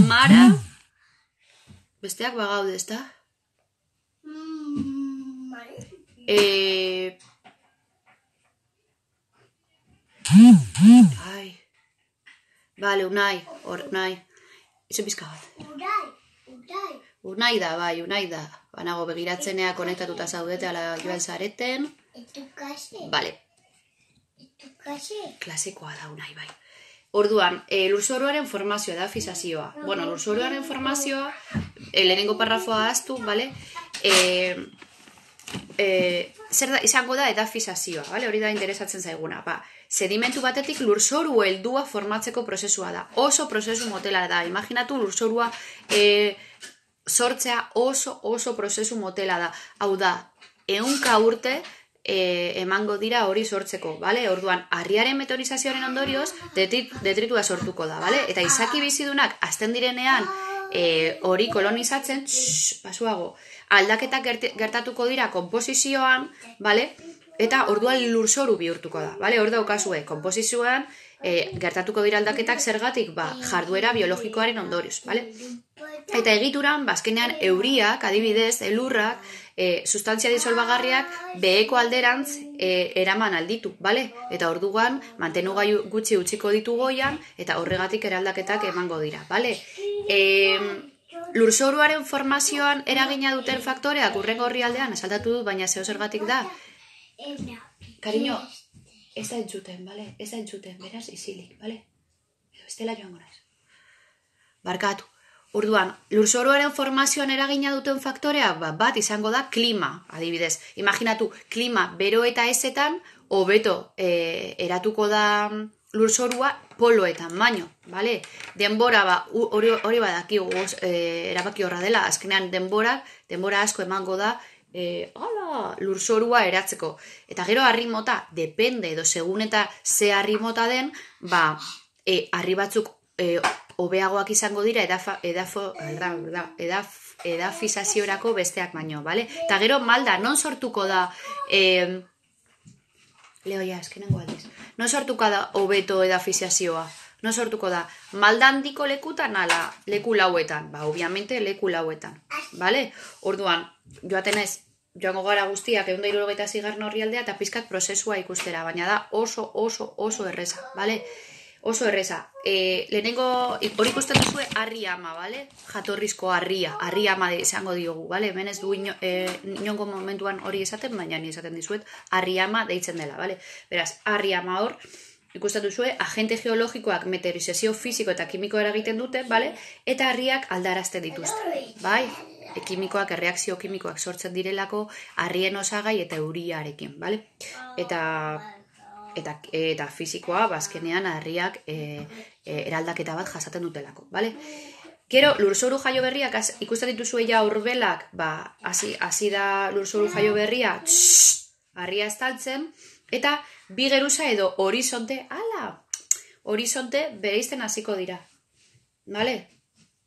Mara, besteak bagaude, ez da? E... Ai. Vale, Unai, hor, Unai. Iso pizka bat. Unai, Unai. Unai da, bai, Unai da. Banago begiratzenea konektatuta zaudete ala joan zareten. Etu kase. Vale. Etu kase. Klasikoa da, Unai, bai. Orduan, e, lurzoruaren formazioa da fisazioa. Bueno, lurzoruaren formazioa, e, lehenengo parrafoa aztu, vale? E, e, zer da, izango da edafisazioa, vale? Hori da interesatzen zaiguna, ba. Sedimentu batetik lurzoru heldua formatzeko prozesua da. Oso prozesu motela da. Imaginatu lurzorua e, sortzea oso oso prozesu motela da. Hau da, ehunka urte e, emango dira hori sortzeko, bale? Orduan, harriaren meteorizazioaren ondorioz detrit, detritua sortuko da, bale? Eta izaki bizidunak azten direnean e, hori kolonizatzen, txss, basuago, aldaketak gert, gertatuko dira konposizioan, bale? Eta orduan lurzoru bihurtuko da, bale? Hor daukazue, konposizioan e, gertatuko dira aldaketak zergatik, ba, jarduera biologikoaren ondorioz, bale? Eta egituran, bazkenean euriak, adibidez, elurrak, e, sustantzia disolbagarriak beheko alderantz e, eraman alditu, bale? Eta orduan, mantenugai gutxi utziko ditu goian, eta horregatik eraldaketak emango dira, bale? E, lurzoruaren formazioan eragina duten faktoreak urrengo orrialdean esaldatu dut, baina zeo zergatik da? Cariño, ez da entzuten, bale? Ez da entzuten, beraz, izilik, bale? Estela joango naiz. Barkatu. Orduan, lurzoruaren formazioan eragina duten faktoreak, ba, bat izango da klima, adibidez. Imaginatu, klima bero eta ezetan, hobeto e, eratuko da lurzorua poloetan baino, bale? Denbora, ba, hori, hori badaki e, erabaki horra dela, azkenean denbora, denbora asko emango da, E, ala, lurzorua eratzeko. Eta gero harri mota, depende edo segun eta ze harri mota den, ba, e, harri batzuk e, hobeagoak izango dira edafa, edafo, edaf, edaf, edafizaziorako besteak baino, bale? Eta gero malda, non sortuko da e, leo ja, eskenengo aldiz non sortuko da hobeto edafizazioa? Non sortuko da malda handiko lekutan ala leku lauetan? Ba, obviamente leku lauetan, bale? Orduan, joaten ez, joango gara guztiak ehun eta hirurogeita sei orrialdea eta pizkat prozesua ikustera, baina da oso, oso, oso erreza, bale? Oso erreza. E, lehenengo, hori ikusten duzue, harri ama, bale? Jatorrizko harria, harri ama izango diogu, bale? Hemen ez du ino, e, inongo momentuan hori esaten, baina ni esaten dizuet, harri ama deitzen dela, bale? Beraz, harri ama hor, ikusten duzue, agente geologikoak meteorizazio fisiko eta kimiko eragiten dute, bale? Eta harriak aldarazten dituzte, bai? E, kimikoak, erreakzio kimikoak sortzen direlako harrien osagai eta euriarekin, bale? Eta... Eta, eta fisikoa, bazkenean, harriak e, e, eraldaketa bat jasaten dutelako, bale? Gero, lurzoru jaio berriak, az, ikusten dituzue ja urbelak, ba, hasi, hasi da lurzoru jaio berria, txss, harria estaltzen, eta bi geruza edo horizonte, ala, horizonte bereizten hasiko dira, bale?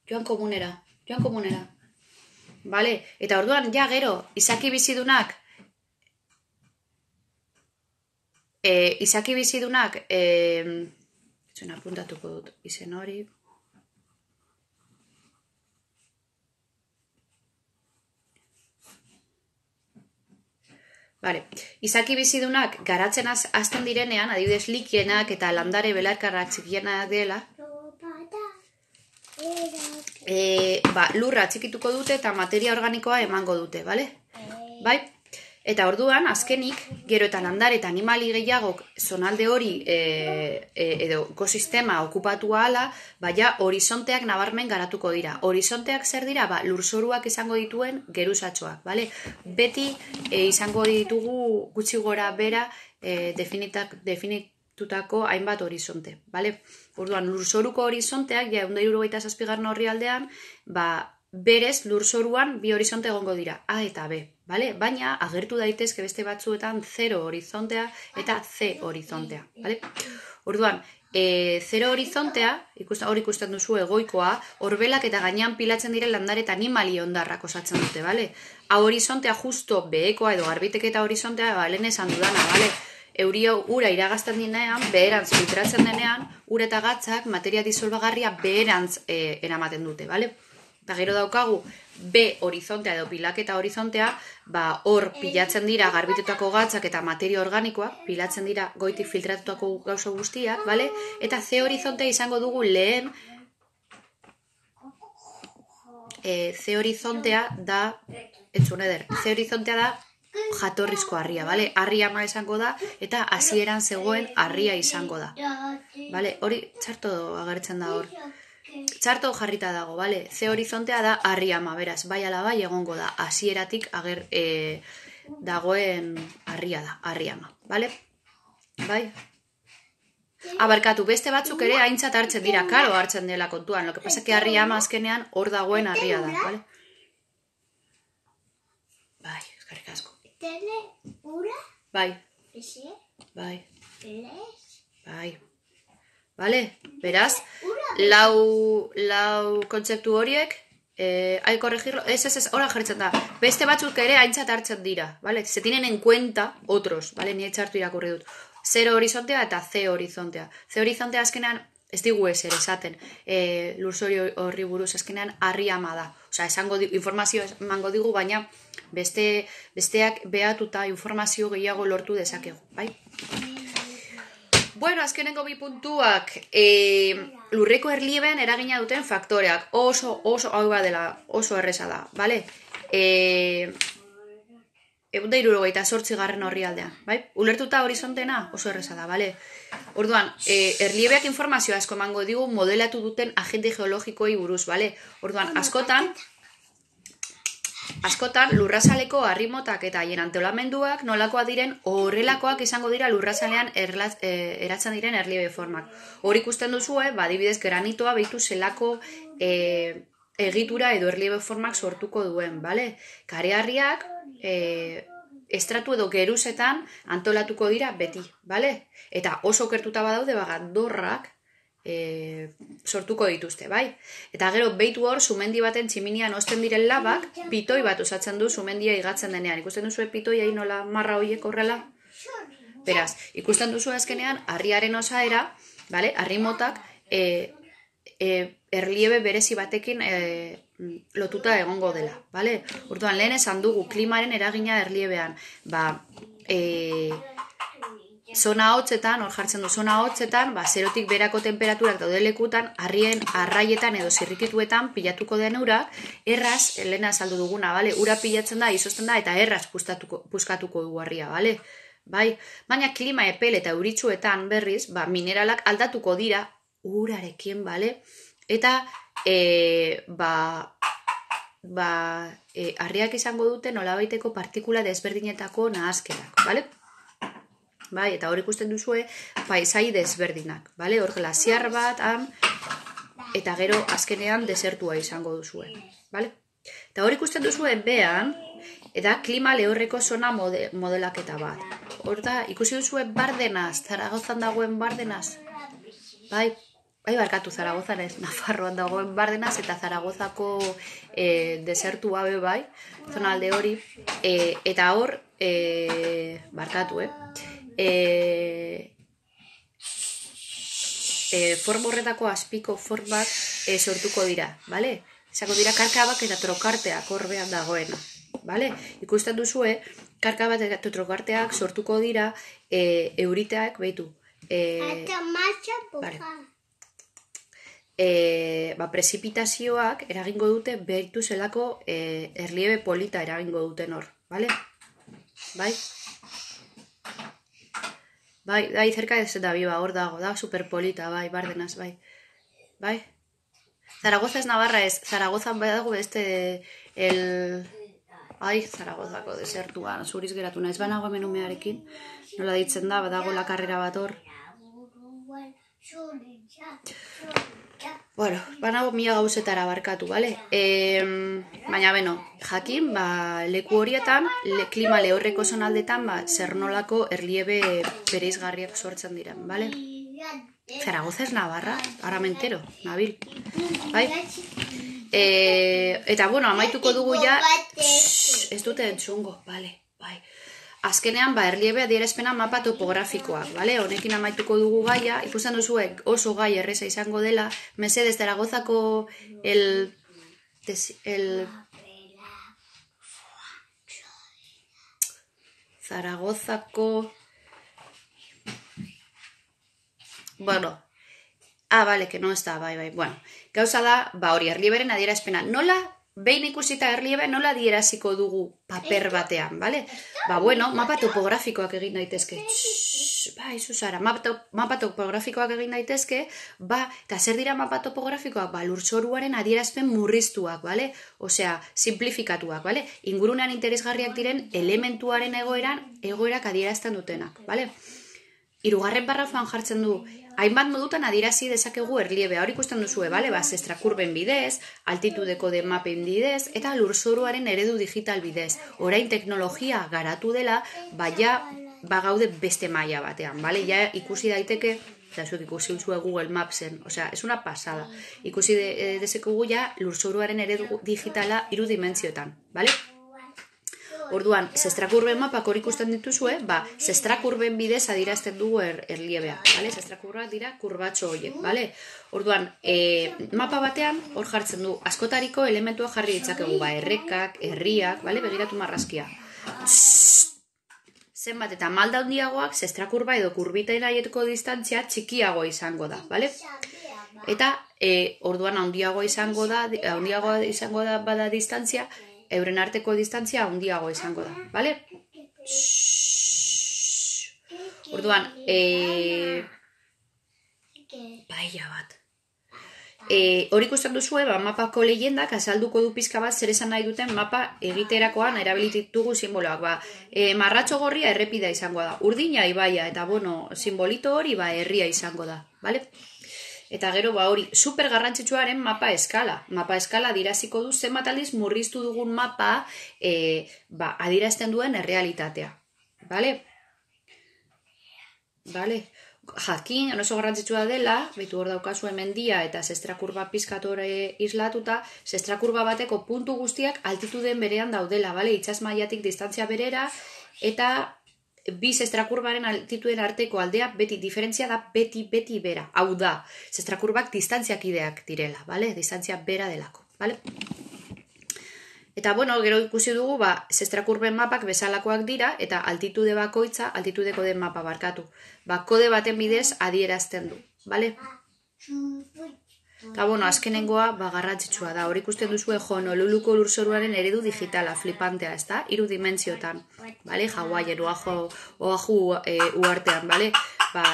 Joan komunera, joan komunera. Vale? Eta orduan, ja gero, izaki bizidunak, e, izaki bizidunak, e, zuen apuntatuko dut izen hori, Vale. Izaki bizidunak garatzen hasten direnean, adibidez likienak eta landare belarkarrak txikienak dela, e, ba, lurra txikituko dute eta materia organikoa emango dute, bale? Bai? Eta orduan, azkenik, gero eta landare eta animali gehiagok zonalde hori e, e, edo ekosistema okupatu ahala, baina horizonteak nabarmen garatuko dira. Horizonteak zer dira? Ba, lurzoruak izango dituen geruzatxoak, bale? Beti e, izango ditugu gutxi gora bera e, definitak, definitutako hainbat horizonte, bale? Orduan, lurzoruko horizonteak, ja, ehun eta hirurogeita zazpigarren orrialdean, ba, berez lurzoruan bi horizonte egongo dira, A eta B, bale? Baina agertu daitezke beste batzuetan zero horizontea eta C horizontea, bale? Orduan, e, zero horizontea, ikusten, hor ikusten duzu egoikoa, horbelak eta gainean pilatzen diren landare eta animali ondarrak osatzen dute, bale? A horizontea justo behekoa edo garbiteke eta horizontea, ba, lehen esan dudana, bale? Euria ura iragazten dinean, beherantz filtratzen denean, ura eta gatzak materia disolbagarria beherantz e, eramaten dute, bale? Eta gero daukagu B horizontea edo pilaketa horizontea, ba hor pilatzen dira garbitutako gatzak eta materia organikoa, pilatzen dira goitik filtratutako gauza guztiak, bale? Eta C horizontea izango dugu lehen, e, C horizontea da, entzun eder, C horizontea da jatorrizko harria, bale? Harri ama izango da eta hasieran zegoen harria izango da, bale? Hori txarto agertzen da hor. Txarto jarrita dago, bale? C horizontea da harri ama, beraz, bai ala bai egongo da, hasieratik ager e, dagoen harria da, harri ama, bale? Bai? Abarkatu, beste batzuk ere aintzat hartzen dira, karo hartzen dela kontuan, lo que pasa que harri ama azkenean hor dagoen harria da, bale? Bai, eskarrik asko. Tele, ura, Bai, ese, bai, les, bai. Vale? Beraz, lau, lau kontzeptu horiek, eh, hay corregirlo, ez, ez, ez, hora jartzen da. Beste batzuk ere aintzat hartzen dira, vale? Se tienen en cuenta otros, vale? Ni etxartu irakurri dut. Zero horizontea eta C horizontea. C horizontea azkenean, ez digu ezer esaten, e, lurzori horri buruz azkenean harri ama da. Osea, esango di, informazio emango digu, baina beste, besteak behatuta informazio gehiago lortu dezakegu, bai? Bueno, azkenengo bi puntuak, e, lurreko erlieben eragina duten faktoreak. Oso, oso, hau badela, oso erresa da, bale? E, Egun da hirurogeita zortzi garren horri aldean, bai? Ulertuta horizontena oso erresa da, bale? Orduan, e, erliebeak informazioa asko emango digu modelatu duten agente geologikoi buruz, bale? Orduan, askotan, askotan lurrazaleko harrimotak eta haien antolamenduak nolakoa diren horrelakoak izango dira lurrazalean erlaz, e, eratzen diren erliebe formak. Hor ikusten duzue, ba, adibidez granitoa behitu zelako e, egitura edo erliebe formak sortuko duen, bale? Kareharriak e, estratu edo geruzetan antolatuko dira beti, bale? Eta oso kertuta badaude, ba, gandorrak E, sortuko dituzte, bai? Eta gero behitu hor, sumendi baten tximinian osten diren labak, pitoi bat osatzen du sumendia igatzen denean. Ikusten duzu pitoi hain nola marra hoiek horrela? Beraz, ikusten duzu azkenean, harriaren osaera, bale? Harri motak, e, e, erliebe berezi batekin e, lotuta egongo dela, bale? Orduan, lehen esan dugu, klimaren eragina erliebean, ba, e, zona hotzetan, hor jartzen du zona hotzetan, ba, zerotik berako temperaturak daude lekutan, harrien arraietan edo zirrikituetan pilatuko den ura, erraz, lehena azaldu duguna, bale? Ura pilatzen da, izozten da, eta erraz puskatuko, puskatuko du harria, bale? Bai? Baina klima epel eta euritsuetan berriz, ba, mineralak aldatuko dira urarekin, bale? Eta, e, ba, ba, e, harriak izango dute nolabaiteko partikula desberdinetako nahazkerak, bale? Bai, eta hor ikusten duzue paisai desberdinak, bale? Hor glasiar bat, han, eta gero azkenean desertua izango duzue, bale? Eta hor ikusten duzue behan, eta klima lehorreko zona mode, modelaketa bat. Hor da, ikusi duzue Bardenaz, Zaragozan dagoen Bardenaz, bai? bai barkatu Zaragozan ez, Nafarroan dagoen Bardenaz eta Zaragozako e, desertu abe bai, zonalde hori, e, eta hor, e, barkatu, eh? E, e, form horretako azpiko formak e, sortuko dira, bale? Izako dira karkabak eta trokarteak horbean dagoena, bale? Ikusten duzue, karka bat eta trokarteak sortuko dira e, euriteak, behitu. E, Eta marcha vale. poja. E, ba, prezipitazioak eragingo dute behitu zelako e, erliebe polita eragingo duten hor, bale? Bai? Bai, bai, cerka ez da biba, hor dago, da superpolita, bai, Bardenaz, bai. Bai? Zaragoza ez Navarra ez, Zaragozan bai dago beste el... Ai, Zaragozako desertuan, zuriz geratu naiz, banago hemen umearekin, nola ditzen da, badago la karrera bat hor. Bueno, banago mila gauzetara barkatu, bale? E, baina, beno, jakin, ba, leku horietan, le, klima lehorreko zonaldetan, ba, zer nolako erliebe bereizgarriak sortzen diren, bale? Zaragoza ez Navarra, ara mentero, nabil, bai? E, eta, bueno, amaituko dugu ja, Shhh, ez dute entzungo, bale, bai. Azkenean, ba, erliebe adierazpena mapa topografikoak, bale? Honekin amaituko dugu gaia, ikusten duzuek oso gai erreza izango dela, mesedez Zaragozako el... el... Zaragozako... Bueno... Ah, vale, que no está, bai, bai, bueno. Gauza da, ba, hori, erlieberen adierazpena. Nola... Behin ikusita erliebe nola adieraziko dugu paper batean, bale? Ba, bueno, mapa topografikoak egin daitezke. Shhh, bai, Susara, mapa, mapa topografikoak egin daitezke, ba, eta zer dira mapa topografikoak? Ba, lurzoruaren adierazpen murriztuak, bale? Osea, simplifikatuak, bale? Ingurunean interesgarriak diren elementuaren egoeran, egoerak adierazten dutenak, bale? Hirugarren parrafoan jartzen du, hainbat modutan adierazi dezakegu erliebea. Hor ikusten duzue, bale? Ba, zestrakurben bidez, altitudeko de mapen bidez, eta lurzoruaren eredu digital bidez. Orain teknologia garatu dela, baina bagaude beste maila batean, bale? Ja ikusi daiteke, eta zuek ikusi duzue Google Mapsen, osea, es una pasada. Ikusi de, dezakegu ja lurzoruaren eredu digitala hiru dimentsioetan, bale? Orduan, zestrakurben mapak hor ikusten dituzue, ba, zestrakurben bidez adirazten dugu er, erliebea, bale? Zestrakurrak dira kurbatxo horiek, bale? Orduan, e, mapa batean hor jartzen du askotariko elementua jarri ditzakegu, ba, errekak, herriak, bale? Begiratu marrazkia. Zenbat eta malda handiagoak, zestrakurba edo kurbitaen aieteko distantzia txikiago izango da, bale? Eta, e, orduan handiagoa izango da, handiagoa izango da bada distantzia, euren arteko distantzia handiago izango da, bale? Orduan, e... baila bat. E, hor ikusten duzue, ba, mapako leyendak azalduko du pizka bat zer esan nahi duten mapa egiterakoan erabilitugu simboloak. Ba, e, marratxo gorria errepida izango da. Urdina ibaia eta, bueno, simbolito hori ba, herria izango da, bale? Eta gero, ba hori, super garrantzitsuaren mapa eskala. Mapa eskala adiraziko du zenbat aldiz murriztu dugun mapa e, ba, adirazten duen errealitatea. Bale? Bale? Jakin, oso garrantzitsua dela, behitu hor daukazu mendia eta zestrakurba pizkatore islatuta, zestrakurba bateko puntu guztiak altituden berean daudela, bale? Itsas mailatik distantzia berera, eta bi zestrakurbaren altituden arteko aldea beti diferentzia da beti beti bera. Hau da, zestrakurbak distantziak ideak direla, bale? Distantzia bera delako, bale? Eta, bueno, gero ikusi dugu, ba, zestrakurben mapak bezalakoak dira, eta altitude bakoitza, altitudeko den mapa barkatu. Ba, kode baten bidez adierazten du, bale? Eta, bueno, azkenengoa, ba, garrantzitsua da. Hor ikusten duzue Honoluluko lurzoruaren eredu digitala, flipantea, ez da? Hiru dimentsiotan, bale? Hawaien, Oahu, Oahu e, uartean, bale? Ba,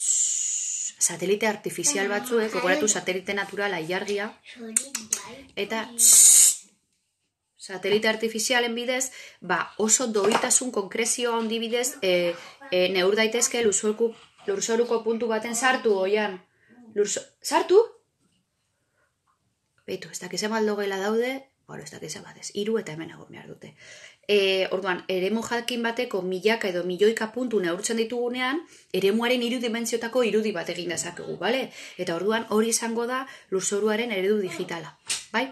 tss, satelite artifizial batzuek, gogoratu satelite naturala ilargia, eta tss, satelite artifizialen bidez, ba, oso doitasun konkrezio handi bidez, e, e, neur daitezke lurzoruko, lurzoruko puntu baten sartu, oian. Lurzo... Sartu? Beitu, ez dakize maldo gela daude, Bueno, ez dakiz batez, hiru eta hemen egon behar dute. E, orduan, eremu jakin bateko milaka edo milioika puntu neurtzen ditugunean, eremuaren hiru dimentsiotako irudi bat egin dezakegu, bale? Eta orduan hori izango da lurzoruaren eredu digitala, bai?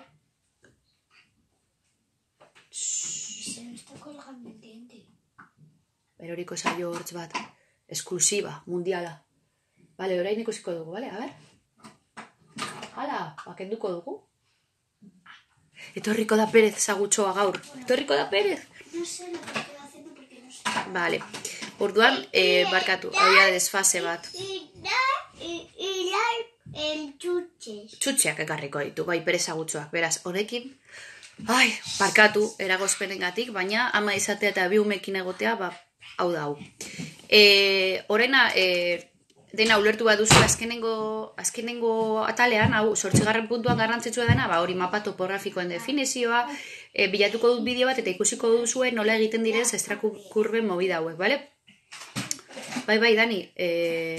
Se me está colgando el diente. Beroriko saio hortz bat, esklusiba, mundiala. Bale, orain ikusiko dugu, bale? A ber? Hala, bakenduko dugu. Etorriko da Perez zagutxoa gaur. Etorriko da Perez. No sé lo que estoy haciendo porque no sé. Vale. Orduan, eh, barkatu, hau desfase bat. Y da, y, y la, el chuches. Txutxeak ekarriko ditu, bai, Perez zagutxoak. Beraz, honekin, ai, barkatu, eragozpenengatik, baina ama izatea eta bi umekin egotea, ba, hau da hau. E, Horena, e, dena ulertu bat duzu azkenengo, azkenengo atalean, hau, zortzigarren puntuan garrantzitsua dena, ba, hori mapa topografikoen definizioa, e, bilatuko dut bideo bat eta ikusiko duzue nola egiten diren zestrakurben movida hauek, bale? Bai, bai, Dani, e,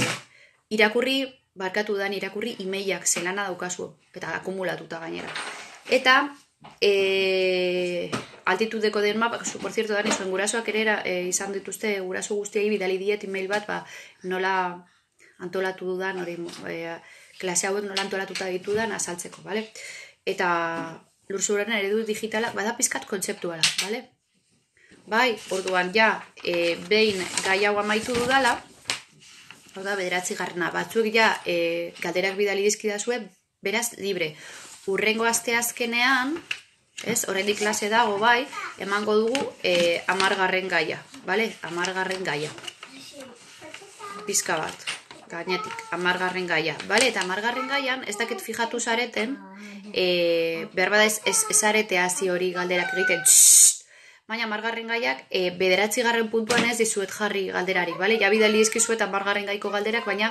irakurri, barkatu Dani, irakurri emailak zelana daukazu, eta akumulatuta gainera. Eta, e, altitudeko den mapa, por cierto, Dani, zuen gurasoak ere e, izan dituzte, guraso guztiei bidali diet email bat, ba, nola antolatu dudan, hori, e, klase hauek nola antolatuta ditudan azaltzeko, bale? Eta lurzoruaren eredu digitala, bada pizkat kontzeptuala, bale? Bai, orduan, ja, e, behin gai hau amaitu dudala, hau da, bederatzi garrana, batzuek ja, e, galderak bidali dizkidazue, beraz, libre. Urrengo aste azkenean, ez, oraindik klase dago, bai, emango dugu e, amargarren gaia, bale? Amargarren gaia. Pizka bat. Gainetik, amargarren gaia. Bale, eta amargarren gaian, ez dakit fijatu zareten, e, behar bada ez, ez, ez arete hazi hori galderak egiten, txsst, baina amargarren gaiak, e, bederatzi garren puntuan ez dizuet jarri galderarik, bale? Ja bidali dizkizuet amargarren gaiko galderak, baina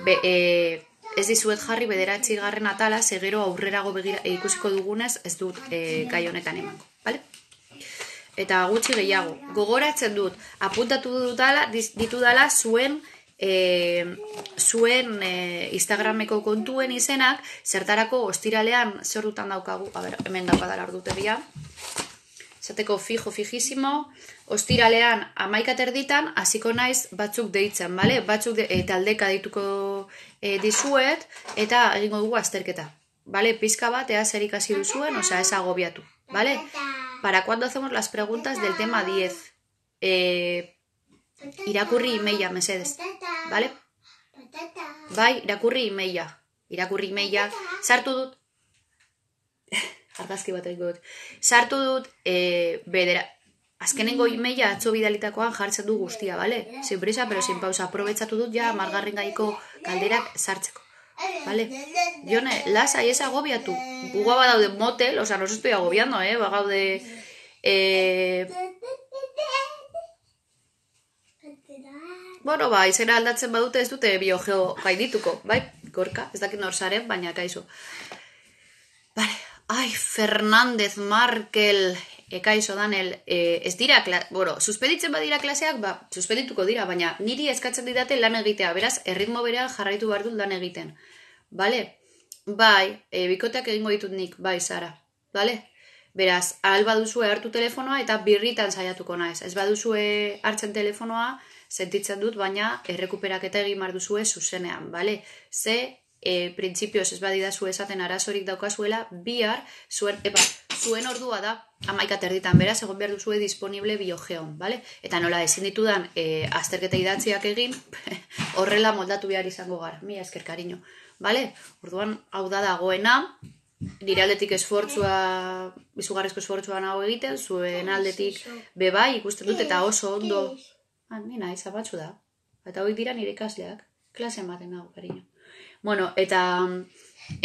be, e, ez dizuet jarri bederatzi garren atala, segero aurrerago begira, e, ikusiko dugunez, ez dut e, gai honetan emango, bale? Eta gutxi gehiago, gogoratzen dut, apuntatu dutala, ditudala zuen, E, zuen e, Instagrameko kontuen izenak, zertarako ostiralean zer dutan daukagu, a ber, hemen daukadala ordutegia, zateko fijo, fijísimo, ostiralean amaika terditan, hasiko naiz batzuk deitzen, bale? Batzuk de, e, taldeka deituko e, dizuet, eta egingo dugu azterketa, bale? Pizka bat, ea zer ikasi duzuen, osea, ez agobiatu, bale? Para cuando hacemos las preguntas del tema diez, eh, irakurri emaila, mesedez, bale? Bai, irakurri emaila, irakurri emaila, sartu dut, argazki bat egin dut, sartu dut, e, bedera, azkenengo emaila atzo bidalitakoan jartzen du guztia, bale? Sin prisa, pero sin pausa, aprobetsatu dut ja margarren gaiko galderak sartzeko, bale? Jone, lasai ez agobiatu, guga badaude motel, oza, nos estoy agobiando, eh, bagaude, eh, bueno, ba, izena aldatzen badute ez dute biogeo gaindituko, bai? Gorka, ez dakit nor zaren, baina kaizu. Vale, ai, Fernández, Markel, ekaizo Danel, e, ez dira, bueno, suspeditzen badira klaseak, ba, suspedituko dira, baina niri eskatzen didate lan egitea, beraz, erritmo berean jarraitu behar dut lan egiten. Bale? Bai, e, bikoteak egingo ditut nik, bai, Sara, bale? Beraz, ahal baduzue hartu telefonoa eta birritan saiatuko naiz. Ez baduzue hartzen telefonoa, sentitzen dut, baina errekuperaketa egin behar duzue zuzenean, bale? Ze, e, printzipioz ez badidazu esaten arazorik daukazuela, bihar, zuen, epa, zuen ordua da, amaika terditan, beraz, egon behar duzue disponible biogeon, bale? Eta nola ezin ditudan e, azterketa idatziak egin, horrela moldatu behar izango gara, mila esker kariño, bale? Orduan, hau da dagoena, nire aldetik esfortzua, izugarrizko esfortzua nago egiten, zuen aldetik bebai ikusten dut eta oso ondo. Ah, nina, izabatzu da. Eta hori dira nire ikasleak. Klase ematen nago, kariño. Bueno, eta,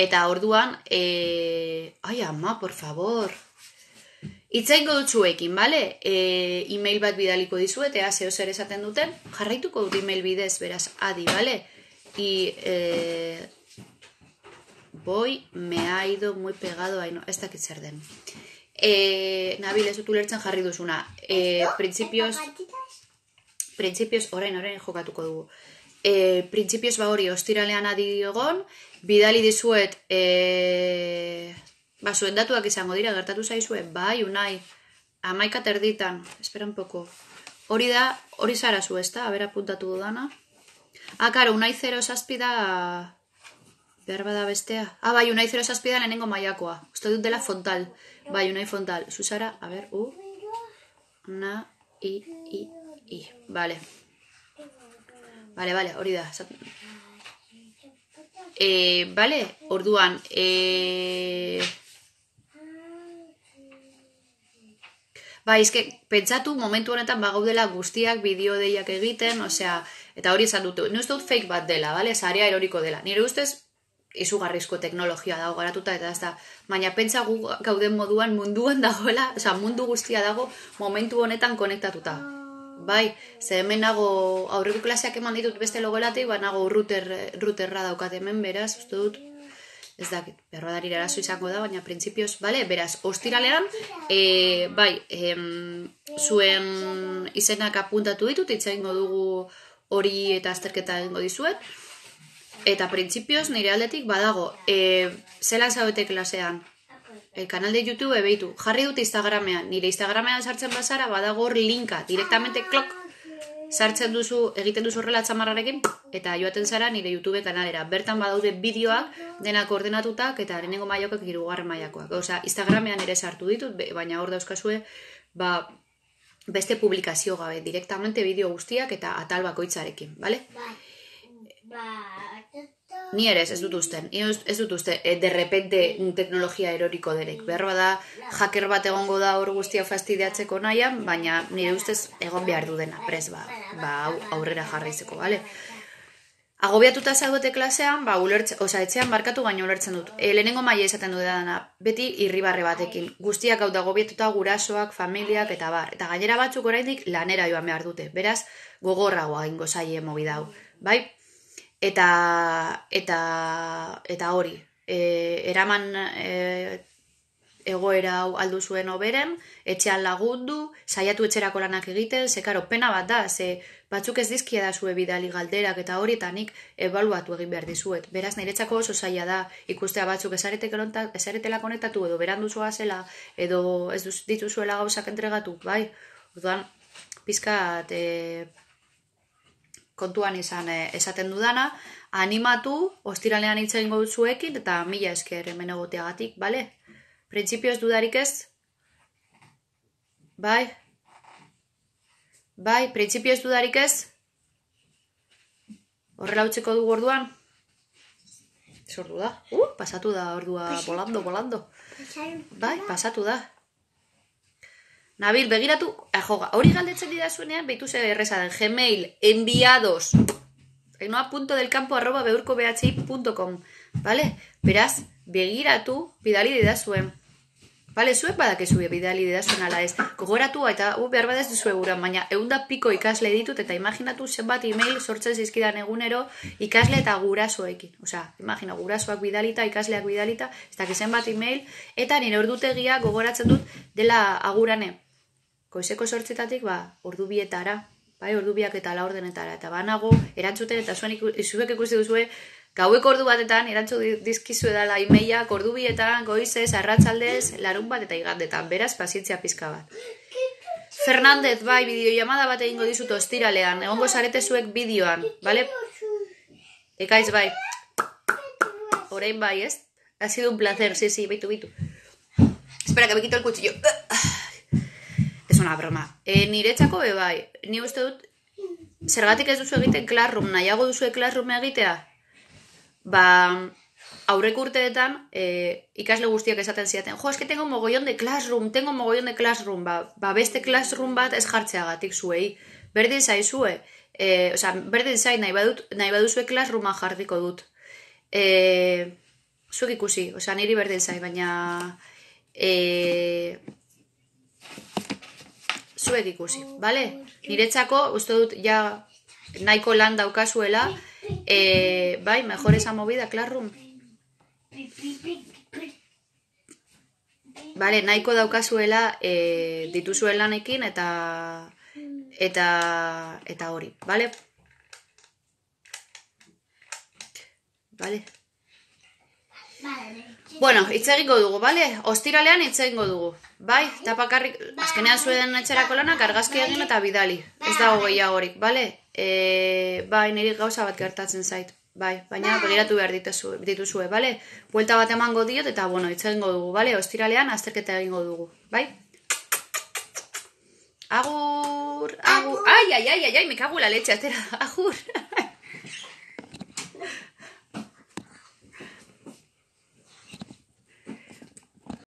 eta orduan, e... ai, ama, por favor. Itzaingo dut zuekin, bale? E, email bat bidaliko dizuet, ea zeo zer esaten duten. Jarraituko dut email bidez, beraz, adi, bale? I, e... Boi, me ha ido muy pegado, ai, no, ez dakit zer den. E, Nabil, ez dut ulertzen jarri duzuna. E, Principios... Principios, orain, orain jokatuko dugu. E, Principios ba hori, ostiralean adi egon, bidali dizuet, e, Ba, zuen datuak izango dira, gertatu zaizue, bai, unai, amaika terditan, espera un poco. Hori da, hori zara zu, ezta, abera puntatu dudana. Ah, karo, unai zero zazpida, behar bada bestea. Ah, bai, unai zero zazpida lehenengo maiakoa. Uste dut dela fontal. Bai, unai fontal. Zuzara, a ber, u, na, i, i, i. Vale. Vale, vale, hori da. Eh, vale, orduan, eh... Ba, izke, pentsatu momentu honetan bagaudela guztiak bideo deiak egiten, osea, eta hori esan dut, nire uste dut fake bat dela, bale? Sarea eroriko dela. Nire ustez, izugarrizko teknologia dago garatuta, eta ez da, baina pentsa gu gauden moduan munduan dagoela, osea, mundu guztia dago momentu honetan konektatuta. Bai, ze hemen nago aurreko klaseak eman ditut beste logelatik, ba nago router, routerra daukat hemen, beraz, uste dut, ez dakit, berrodarira eraso izango da, baina printzipioz, bale, beraz, ostiralean, e, bai, em, zuen izenak apuntatu ditut, hitz egingo dugu hori eta azterketa egingo dizuet, eta printzipioz nire aldetik badago, e, zelan zaudete klasean, el canal de YouTube behitu, jarri dut Instagramean, nire Instagramean sartzen bazara, badago hor linka, directamente klok, sartzen duzu, egiten duzu horrela txamarrarekin, eta joaten zara nire YouTube kanalera. Bertan badaude bideoak, denak ordenatutak, eta lehenengo mailakoak hirugarren mailakoak. Osea, Instagramean ere sartu ditut, baina hor dauzkazue, ba, beste publikazio gabe, directamente bideo guztiak eta atal bakoitzarekin, bale? Ni ere ez dut usten, ez dut uste, de repente teknologia eroriko derek. Berroa da, hacker bat egongo da hor guztia fastidiatzeko nahian, baina nire ustez egon behar du dena, prez, ba, ba aurrera jarraizeko, bale? Agobiatuta zaudete klasean, ba, ulertze, oza, etxean barkatu baina ulertzen dut. E, lehenengo maila izaten du dena, beti irribarre batekin. Guztiak hau da agobiatuta gurasoak, familiak eta bar. Eta gainera batzuk oraindik lanera joan behar dute. Beraz, gogorragoa ingo zaie mobida hau, bai? Eta, eta, eta hori, e, eraman e, egoera hau aldu zuen oberen, etxean lagundu, saiatu etxerako lanak egiten, ze karo, pena bat da, ze batzuk ez dizkia da zue bidali galderak eta hori, eta nik ebaluatu egin behar dizuet. Beraz, niretzako oso zaila da, ikustea batzuk esaretela konektatu, edo berandu zoa zela, edo ez dituzuela gauzak entregatu, bai? Orduan, pizkat... E, kontuan izan esaten dudana, animatu, ostiralean hitz egingo dut zuekin, eta mila esker hemen egoteagatik, bale? Printzipioz dudarik ez? Bai? Bai, printzipioz dudarik ez? Horrela utziko dugu orduan? Zordu da? Uh, pasatu da ordua, volando, volando. Bai, pasatu da. Nabil, begiratu, ajoga, hori galdetzen didazuenean, behitu ze erreza den, Gmail, enviados, enoa punto del campo arroba beurko bhi punto com, vale? Beraz, begiratu, bidali didazuen, vale, zuek badakezue bidali didazuen ala ez, gogoratu eta u, behar badaz duzue guran, baina eunda piko ikasle ditut, eta imaginatu zenbat email sortzen zizkidan egunero ikasle eta gurasoekin, osea, imagina, gurasoak bidalita, ikasleak bidalita, ez dakiz zenbat email, eta nire ordutegia gogoratzen dut dela agurane, goizeko sortzetatik, ba, ordu bietara, bai, ordu biak eta la ordenetara, eta banago, erantzuten, eta zuen izuek ikusi duzue, gaueko ordu batetan, erantzu dizkizu edala imeiak, ordu bietan, goizez, arratsaldez, larun bat eta igandetan, beraz, pazientzia pizka bat. Fernandez, bai, bideoiamada bat egingo dizut ostiralean, egongo zarete zuek bideoan, bale? Ekaiz, bai. Orain bai, ez? Ha sido un placer, sí, sí, bitu, bitu. Espera, que me quito el cuchillo. Es una broma. E, niretzako be bai, ni uste dut, zergatik ez duzu egiten Classroom, nahiago duzu Classroom egitea? Ba, aurreko urteetan, e, ikasle guztiak esaten ziaten, jo, eske tengo mogollon de Classroom, tengo mogollon de Classroom, ba, ba beste Classroom bat ez jartzeagatik zuei. Berdin zaizue, e, oza, berdin zai, nahi, badut, nahi baduzue Classrooma jarriko dut. E, zuek ikusi, oza, niri berdin zai, baina... E, zuek ikusi, bale? Niretzako, uste dut, ja nahiko lan daukazuela, e, bai, mejor esa movida, Classroom. Bale, nahiko daukazuela e, dituzuen lanekin eta eta eta hori, bale? Bale? Bale. Bueno, hitz egingo dugu, bale? Ostiralean hitz egingo dugu. Bai, eta bakarrik, azkenean zuen etxerako lanak argazki egin eta bidali. Ez dago gehiagorik, bale? E, bai, niri gauza bat gertatzen zait. Bai, baina begiratu behar dituzue, dituzue, bale? Buelta bat emango diot eta, bueno, hitz egingo dugu, bale? Ostiralean azterketa egingo dugu, bai? Agur, agur. Ai, ai, ai, ai, ai, me cago en la leche, atera. Agur.